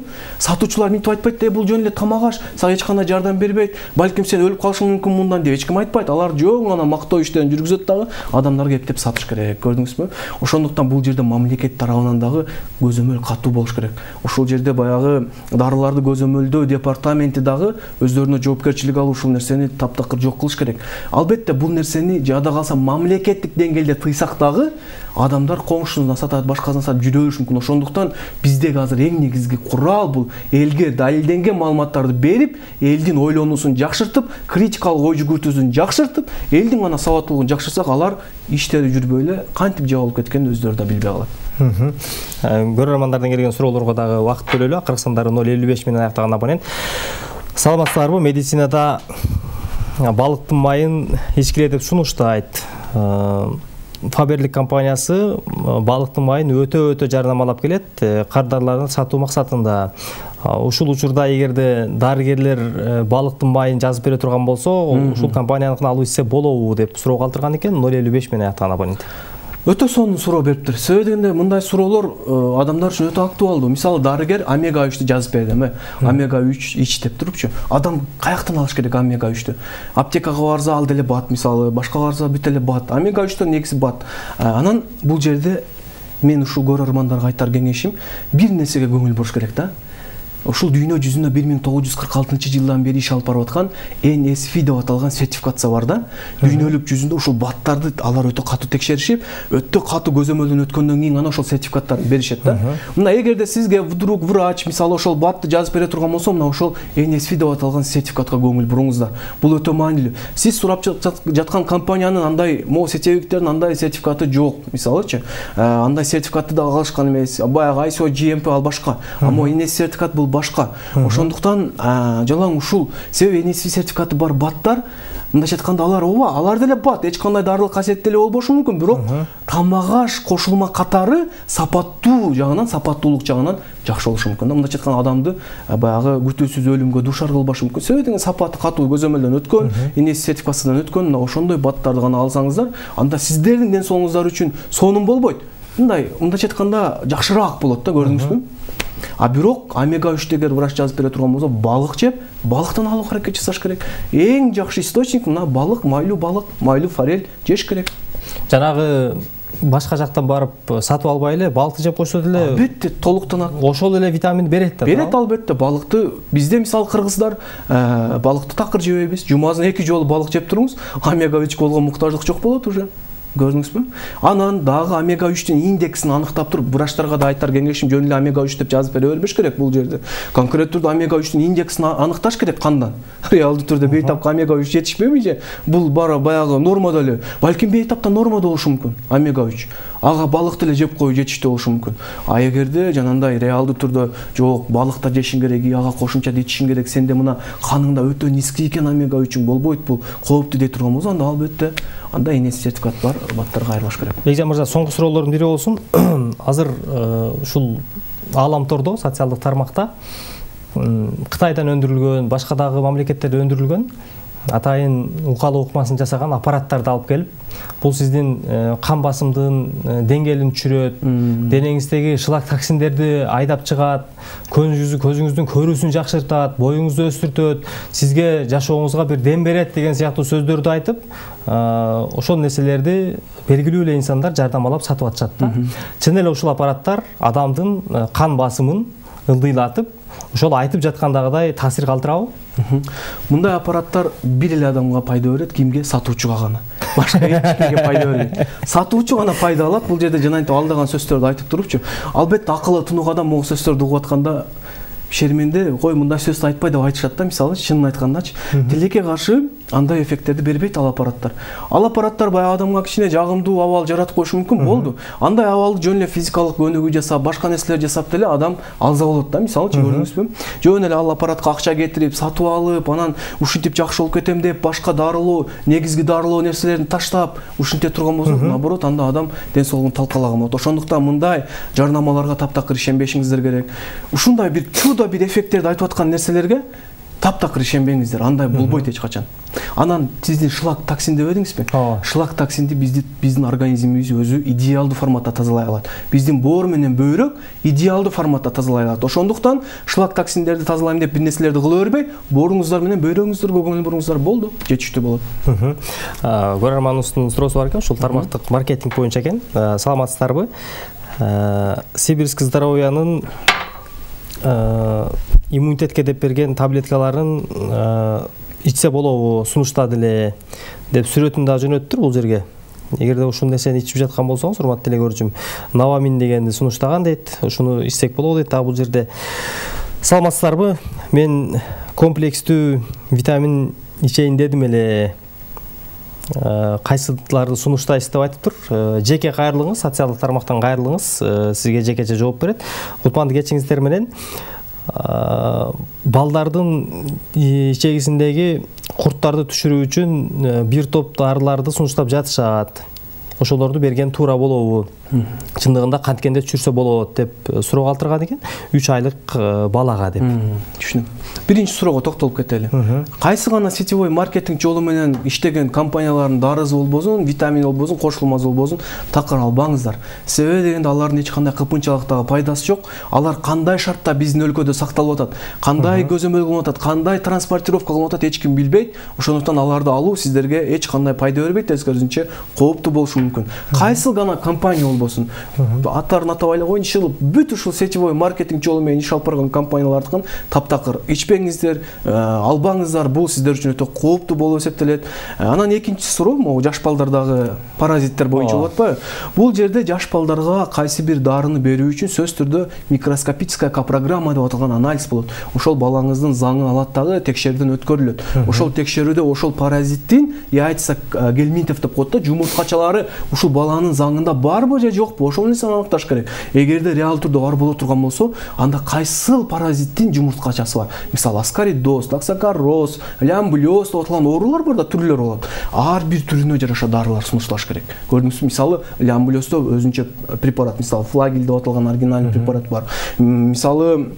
Сатуучулар минтип айтпайт да, бул жөн эле тамак аш, сага эч кандай жардам бербейт. Балким сен өлүп калышың мүмкүн мындан деп эч ким айтпайт. Алар жөн гана мактоо иштерин жүргүзөт дагы, адамдарга эптеп сатыш керек. Көрдүңүзбү? Ошондуктан бул жерде мамлекет тарабынан дагы көзөмөл катуу болуш керек. Ошол жерде баягы дарыларды көзөмөлдөө департаменти дагы өздөрүнө жоопкерчилик алып ушул нерсени таптакыр жок кылыш керек. Албетте бул нерсени жада калса мамлекеттик деңгээлде тыйсак дагы адамдар коңшусуна сатат, башкасына сатып жүрө бериши мүмкүн. Ошондуктан биздеги азыр эң негизги курал бул элге далилденген маалыматтарды берип, элдин ойлонуусун жакшыртып, критикалык ой жүгүртүүсүн жакшыртып, элдин гана сабаттуулугун жакшырсак, алар иштери жүрбөй эле кантип жабылып кеткенин өздөрү да билбей калат. Көрөрмандардан келген суроолорго дагы убакыт бөлөлү. Кыргызстандагы 055 менен аяктаган абонент. Саламатсыздарбы? Медицинада балыктын майын ичкиле деп сунуштайт. Фаберлик компаниясы балыктын майын өтө жарнамалап келет, кардарларына сатуу максатында. Ушул учурда эгерде дарыгерлер балыктын майын жазып бере турган болсо, ушул компанияныкын алып ичсе болобу деп суроо калтырган экен. 055 менен аяктаган абонент. Өтө сонун суроо бериптир. Себеби дегенде мындай суроолор адамдар үчүн өтө актуалдуу. Мисалы дарыгер омега 3-тү жазып берди, омега 3 ич деп турупчу. Адам каяктан алыш керек омега 3-тү? Аптекага барса ал деле бат, мисалы, башка барса бүт эле бат. Омега 3төн негизи бат. Анан бул жерде мен ушул көрөрмандарга айтар кеңешим, бир нерсеге көңүл буруш керек да. Ушул дүйнө жүзүндө 1946-жылдан бери иш алып барып аткан NSF деп аталган сертификация бар да. Дүйнөлүк жүзүндө ушул баттарды алар өтө катуу текшеришип, өтө катуу көзөмөлдөн өткөндөн кийин гана ошол сертификаттарды беришет да. Мына эгерде сизге вдруг врач, мисалы ошол батты жазып бере турган болсо, мына ошол NSF деп аталган сертификатка көңүл буруңуздар. Бул өтө маанилүү. Сиз сурап жаткан компаниянын андай сетевиктеринин андай сертификаты жок, мисалычы. Андай сертификатты да алышкан эмес. Баягы ISO GMP ал башка. Ама NSF сертификат бул башка. Ошондуктан жалаң ушул себеби NSF сертификаты бар баттар, мындайча айтканда алар деле бат, эч кандай дарылык касиет деле болбошу мүмкүн, бирок тамак аш кошулма катары сапаттуу жагынан, сапаттуулук жагынан жакшы болушу мүмкүн. Мындайча айтканда адамды баягы күтүүсүз өлүмгө дуушар кылбашы мүмкүн. Себеби деген сапаты катуу көзөмөлдөн өткөн, NSF сертификациядан өткөн, ошондой баттарды гана алсаңыздар, анда сиздердин ден соолугуңуздар үчүн сонун болбойт. Мындайча айтканда жакшыраак болот да, көрдүңүзбү? Бирок омега 3-тегер врач жазып бере турган болсо, балык жеп, балыктан алууга аракет жасаш керек. Эң жакшы источник мына балык, майлуу форель жеш керек. Жанагы башка жактан барып сатып албай эле балыкты жеп койсо деле албетте толуктанат. Ошол эле витамин берет да. Берет албетте. Балыкты бизде мисалы кыргыздар балыкты такыр жебейбиз. Жумазына 2 жолу балык жеп туруңуз, омега 3 болгон муктаждык жок болот уже. Көрдүңүзбү? Анан дагы омега 3түн индексин аныктап туруп, врачтарга да айтар кеңешим, жөн эле омега 3 деп жазып бере бербеш керек бул жерде. Конкреттүү түрдө омега 3түн индексин аныкташ керек кандан. Реалдуу түрдө бейтапка омега 3 жетишпейби же? Бул баягы нормада эле. Балким бейтапта нормада болушу мүмкүн омега 3. Ага балыкты эле жеп коюу жетиштүү болушу мүмкүн. А эгерде жанагындай реалдуу түрдө жок, балыкта жешиң керек, ага кошумча ичишиң керек, сенде мына каныңда өтө низки экен омега 3 болбойт, бул кооптуу дей турган болсо, анда албетте анда инес сертификат бар баттарга айырбаш керек. Бекжан мырза, соңку суроолордун бири болсун. Азыр ушул ааламтордо, социалдык тармакта Кытайдан өндүрүлгөн, башка дагы мамлекеттерде өндүрүлгөн атайын укалоо укмасын жасаган аппараттарды алып келип, бул сиздин кан басымдын деңгээлин түшүрөт, денеңиздеги шлак токсиндерди айдап чыгат, көзүңүздүн көрүүсүн жакшыртат, боюңузду өстүртөт, сизге жашооңузга бир дем берет деген сыяктуу сөздөрдү айтып, ошол нерселерди белгилүү эле инсандар жардамалап сатып атышат да. Чын эле ушул аппараттар адамдын кан басымын ылдыйлатып, ошол айтып жаткандагыдай таасир калтырабы? Мындай аппараттар бир эле адамга пайда берет, кимге? Сатуучуга гана. Башка эч кимге пайда бербейт. Сатуучу гана пайда алат. Бул жерде жанагынтип алдаган сөздөрдү айтып турупчу. Албетте акылы тунук адам могу сөздөрдү угуп атканда шерменде кой мындай сөз айтпай деп айтышат да, мисалы, чынын айткандачы. Тилекке каршы андай эффекттерди бербейт ал аппараттар. Ал аппараттар баягы адамга кичине жагымдуу абал жаратып коюшу мүмкүн, болду. Андай абалды жөн эле физикалык өнүгүү жасап, башка нерселер жасап деле адам алза болот да, мисалы, көрдүңүзбү? Жөн эле ал аппаратка акча кетирип, сатып алып, анан ушинтип жакшы болуп кетем деп, башка дарылоо, негизги дарылоо нерселерин таштап, ушинте турган болсо, наоборот, анда адам ден соолугун талкалаган болот. Ошондуктан мындай жарнамаларга таптакыр ишенбешиңиздер керек. Ушундай бир чудо бир эффекттерди айтып аткан нерселерге таптакыр ишенбеңиздер. Андай болбойт эч качан. Анан сиздин шлак токсин деп едиңизби? Шлак токсинди биздин организмибиз өзү идеалдуу форматта тазалай алат. Биздин боор менен бөйрөк идеалдуу форматта тазалай алат. Ошондуктан шлак токсиндерди тазалайм деп бир нерселерди кыла бербей, бооруңуздар менен бөйрөгүңүздөргө көңүл буруңуздар, болду, жетиштүү болот. Көрөрманыбыздын суроосу бар экен, ушул тармактык маркетинг боюнча экен. Саламатсыздарбы? Сибирский здоровьянын иммунитетке деп берген таблеткаларын ичсе болобу, сунуштады эле деп сүрөтүн да жөнөттүр бул жерге. Эгерде ушул нерсени ичип жаткан болсоңуз, урматтуу телекөрүүчүм, Навамин дегенди сунуштаган дейт. Ушуну ичсек болобу дейт. Бул жерде саламатсыздарбы? Мен комплекстүү витамин ичейин дедим эле. Кайсыларды сунуштайсыз деп айтыптыр. Жеке кайрылыңыз, социалдык тармактан кайрылыңыз, сизге жекече жооп берет. Кутманды кечиңиздер менен балдардын ичегисиндеги курттарды түшүрүү үчүн бир топ дарыларды сунуштап жатышат. Ошолорду берген туура болобу? Чындыгында канткенде түшүрсө болот деп суроо калтырган экен. 3 айлык балага деп. Түшүнөм. Биринчи суроого токтолуп кетели. Кайсы гана сетевой маркетинг жолу менен иштеген компаниялардын дарысы болбосун, витамин болбосун, кошулмасы болбосун, такыр албаңыздар. Себеби дегенде алардын эч кандай кыпынчалыктагы пайдасы жок. Алар кандай шартта биздин өлкөдө сакталып атат, кандай көзөмөл кылынып атат, кандай транспортировка кылынып атат, эч ким билбейт. Ошондуктан аларды алуу сиздерге эч кандай пайда бербейт, тескерисинче кооптуу болушу мүмкүн. Кайсы гана компания болбосун, аттарын атап эле коеюнчу, бүт ушул сетевой маркетинг жолу менен иш алып барган компаниялардыкын таптакыр ичпеңиздер, албаңыздар. Бул сиздер үчүн өтө кооптуу болуп эсептелет. Анан экинчи суроо, могу жаш балдардагы паразиттер боюнча болот атпайбы? Бул жерде жаш балдарга кайсы бир дарыны берүү үчүн сөз түрдө микроскопическая программа деп аталган анализ болот. Ошол балаңыздын заңы алаттагы текшерүүдөн өткөрүлөт. Ошол текшерүүдө ошол паразиттин яйца гельминтов деп коет да, жумурткачалары ушул баланын заңында барбы же жокпу? Ошол нерсени аныкташ керек. Эгерде реал түрдө бар боло турган болсо, анда кайсыл паразиттин жумурткачасы бар? Мисалы, аскаридоз, токсокароз, лямблёз деп аталган оорулар бар да, түрлөр болот. Ар бир түрүнө жараша дарылар сунушташ керек. Көрдүңүзбү? Мисалы, лямблёздо өзүнчө препарат, мисалы, флагил деп аталган оригинальный препарат бар. Мисалы,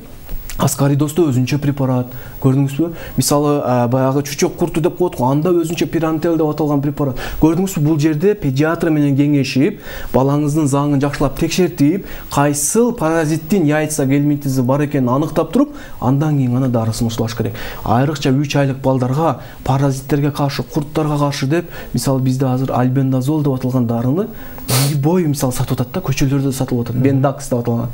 Аскаридосто өзүнчө препарат, көрдүңүзбү? Мисалы, баягы чучок курту деп коет го, анда өзүнчө пирантел деп аталган препарат. Көрдүңүзбү, бул жерде педиатр менен кеңешип, балаңыздын заңын жакшылап текшертип, кайсыл паразиттин яйца гельминтизи бар экенин аныктап туруп, андан кийин гана дарысын ушулаш керек. Айрыкча 3 айлык балдарга паразиттерге каршы, курттарга каршы деп, мисалы бизде азыр альбендазол деп аталган дарыны бой мисалы сатып атат да, көчөлөрдө сатылып атат. Бендакс деп аталган.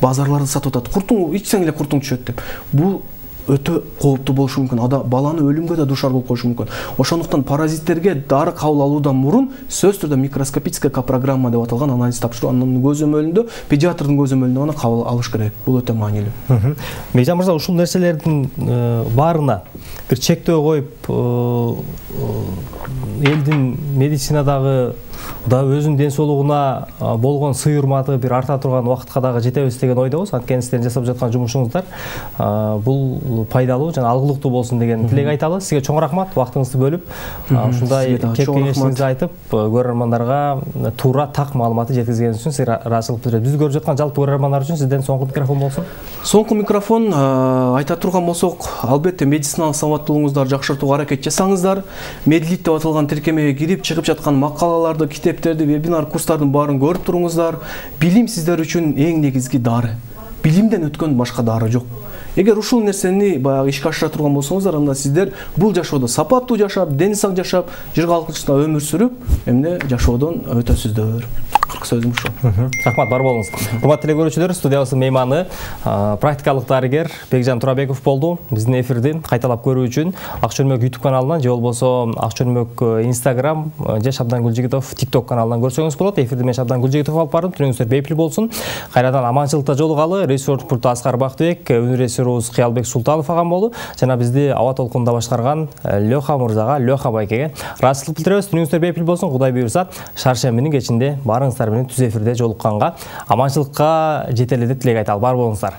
Базарларда сатып атат. Куртуң ичсең эле куртуң түшөт деп. Бул өтө кооптуу болушу мүмкүн. Баланы өлүмгө да душар болуп коюшу мүмкүн. Ошондуктан паразиттерге дары кабыл алуудан мурун сөзсүз түрдө микроскопическая программа деп аталган анализ тапшыруу, анын көзөмөлүндө, педиатрдын көзөмөлүндө гана кабыл алыш керек. Бул өтө маанилүү. Бекжан мырза, ушул нерселердин баарына бир чектөө коюп, элдин медицинадагы да өзүнүн ден соолугуна болгон сый урматы бир арта турган убакытка дагы жетебиз деген ойдобуз. Анткени сиздердин жасап жаткан жумушуңуздар бул пайдалуу жана алгылыктуу болсун деген тилек айталы. Сизге чоң рахмат, убактыңызды бөлүп ушундай кеп кеңешиңизди айтып, көрөрмандарга туура так маалыматты жеткизгениңиз үчүн сизге ыраазычылык билдиребиз. Биз көрүп жаткан жалпы көрөрмандар үчүн сизден соңку микрофон болсун. Соңку микрофон айта турган болсок, албетте медициналык сабаттуулугуңуздарды жакшыртууга аракет жасаңыздар. Медлит деп аталган тиркемеге кирип, чыгып жаткан макалаларды, китептерди, вебинар, курстардын баарын көрүп туруңуздар. Билим сиздер үчүн эң негизги дары. Билимден өткөн башка дары жок. Эгер ушул нерсени баягы ишке ашыра турган болсоңуздар, анда сиздер бул жашоодо сапаттуу жашап, дени сак жашап, жыр калкычында өмүр сүрүп, эмне жашоодон өтөсүздөр. Сөзүм ушул. Рахмат, бар болуңуз. Урматтуу телекөрүүчүлөр, студиябыздын мейманы практикалык дарыгер Бекжан Турабеков болду. Биздин эфирди кайталап көрүү үчүн Ак Чөлмөк YouTube каналынан же болбосо Ак Чөлмөк Instagram же Шабдан Гүлжигитов TikTok каналынан көрсөңүз болот. Эфирди мен Шабдан Гүлжигитов алып бардым. Түнүңүздөр бейпил болсун. Кайрадан аманчылыкта жолугалы. Режиссер пульту Аскар Бактыбек, өнөр режиссерубуз Кыялбек Султанов агам болду. Жана бизди аба толкунда башкарган Лёха мырзага, Лёха байкеге ыраазычылык билдиребиз. Түнүңүздөр бейпил болсун. Кудай буйрса, шаршембинин кечинде барыңыздар менен түз эфирде жолукканга аманчылыкка жетели деп тилек айталы. Бар болуңуздар.